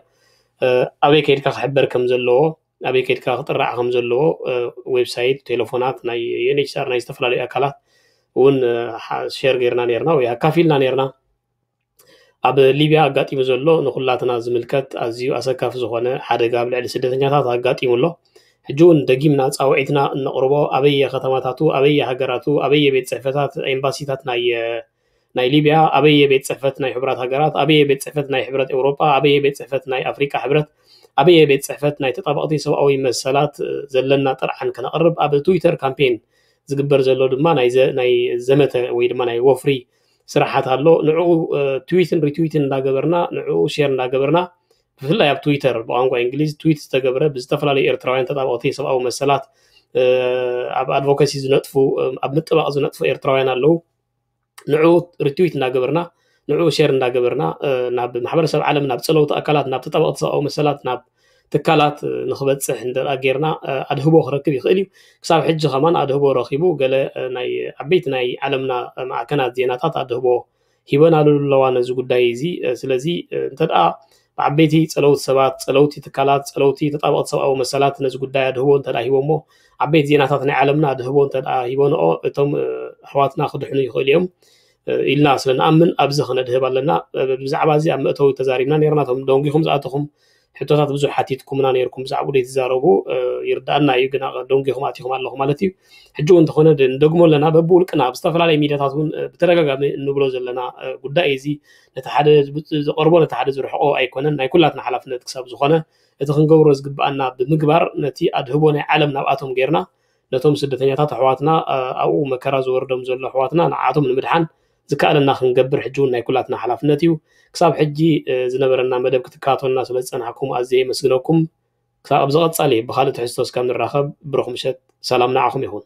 ኣበይ ከይድካ ክሕበር ከም ዘለዎ ኣበይ ከይድካ ክጥራዕ ከም ዘለዎ ዌብሳይት፣ ቴሌፎናት ናይ ዩኤንኤችሲኣር ናይ ዝተፈላለዩ ኣካላት እውን ሼር ጌርና ኔርና ወይ ኣካፊልና ኔርና። ኣብ ሊብያ ኣጋጢሙ ዘሎ ንኩላትና ዝምልከት ኣዝዩ ኣሰካፊ ዝኾነ ሓደጋ ኣብ ልዕሊ ስደተኛታት ኣጋጢሙ ኣሎ። ሕጂ እውን ደጊምና ፃውዒትና እነቕርቦ ኣበየ ከተማታቱ ኣበየ ሃገራቱ ኣበየ ቤት ፅሕፈታት ኤምባሲታት ናይ ናይ ሊብያ ኣበየ ቤት ፅሕፈት ናይ ሕቡራት ሃገራት ኣበየ ቤት ፅሕፈት ናይ ሕብረት ኤውሮጳ ኣበየ ቤት ፅሕፈት ናይ ኣፍሪቃ ሕብረት ኣበየ ቤት ፅሕፈት ናይ ተጣበቕቲ ሰብኣዊ መሰላት ዘለና ጥርዓን ከነቕርብ ኣብ ትዊተር ካምፔን ዝግበር ዘሎ ድማ ናይ ዘመተ ወይ ድማ ናይ ወፍሪ ስራሓት ኣሎ። ንዕኡ ትዊትን ሪትዊትን እንዳገበርና ንዕኡ ሼር እንዳገበርና ብፍላይ ኣብ ትዊተር ብቋንቋ እንግሊዝ ትዊት ዝተገብረ ብዝተፈላለዩ ኤርትራውያን ተጣበቕቲ ሰብኣዊ መሰላት ኣብ ኣድቮካሲ ዝነጥፉ ኣብ ምጥባቕ ዝነጥፉ ኤርትራውያን ኣለዉ። ንዑ ሪትዊት እንዳገበርና ንዑ ሼር እንዳገበርና ናብ ማሕበረሰብ ዓለም ናብ ፀለውቲ ኣካላት ናብ ተጣበቕቲ ሰብኣዊ መሰላት ናብ ትካላት ንክበፅሕ እንደ ጌርና ኣድህቦ ክረክብ ይኽእል እዩ። ክሳብ ሕጂ ከማን ኣድህቦ ረኪቡ ገለ ናይ ዓበይቲ ናይ ዓለምና ማዕከናት ዜናታት ኣድህቦ ሂበናሉ ኣለዋ ነዚ ጉዳይ እዚ። ስለዚ እንተደኣ ብዓበይቲ ፀለውቲ ሰባት፣ ፀለውቲ ትካላት፣ ፀለውቲ ተጣበቕቲ ሰብኣዊ መሰላት ነዚ ጉዳይ ኣድህቦ እንተደኣ ሂቦሞ ዓበይቲ ዜናታት ናይ ዓለምና ኣድህቦ እንተደኣ ሂበንኦ እቶም ኣሕዋትና ክድሕኑ ይኽእሉ እዮም ኢልና ስለ ንኣምን ኣብዚ ክነድህብ ኣለና። ብዛዕባ እዚ ኣብ መእተዊ ተዛሪብና ነርና። እቶም ደንጊኹም ዝኣተኹም ሕቶታት ብዙሕ ሓቲትኩምና ነርኩም ብዛዕባኡ ዘይትዛረቡ ይርዳኣና እዩ። ግና ደንጊኹም ኣቲኹም ኣለኹም ማለት እዩ። ሕጂ እውን እንተኾነ ንደግሞ ኣለና በብውልቅና ኣብ ዝተፈላለዩ ሚድያታት እውን ብተደጋጋሚ እንብሎ ዘለና ጉዳይ እዚ ነቲ ሓደ ዘቐርቦ ነቲ ሓደ ዝርሕቆ ኣይኮነን። ናይ ኩላትና ሓላፍነት ክሳብ ዝኾነ እቲ ክንገብሮ ዝግብኣና ብምግባር ነቲ ኣድህቦ ናይ ዓለም ናብኣቶም ጌርና ነቶም ስደተኛታት ኣሕዋትና ኣብኡ መከራ ዝወርዶም ዘሎ ኣሕዋትና ንዓቶም ንምድሓን ዝከኣለና ክንገብር ሕጂ እውን ናይ ኩላትና ሓላፍነት እዩ። ክሳብ ሕጂ ዝነበረና መደብ ክትከታተሉና ስለ ዝፀናሕኩም ኣዝየ የመስግነኩም። ክሳብ ኣብ ዝቐፃሊ ብካልእ ትሕዝቶ እስካብ ንራኸብ ብሩኽ ምሸት፣ ሰላም ንዓኹም ይኹን።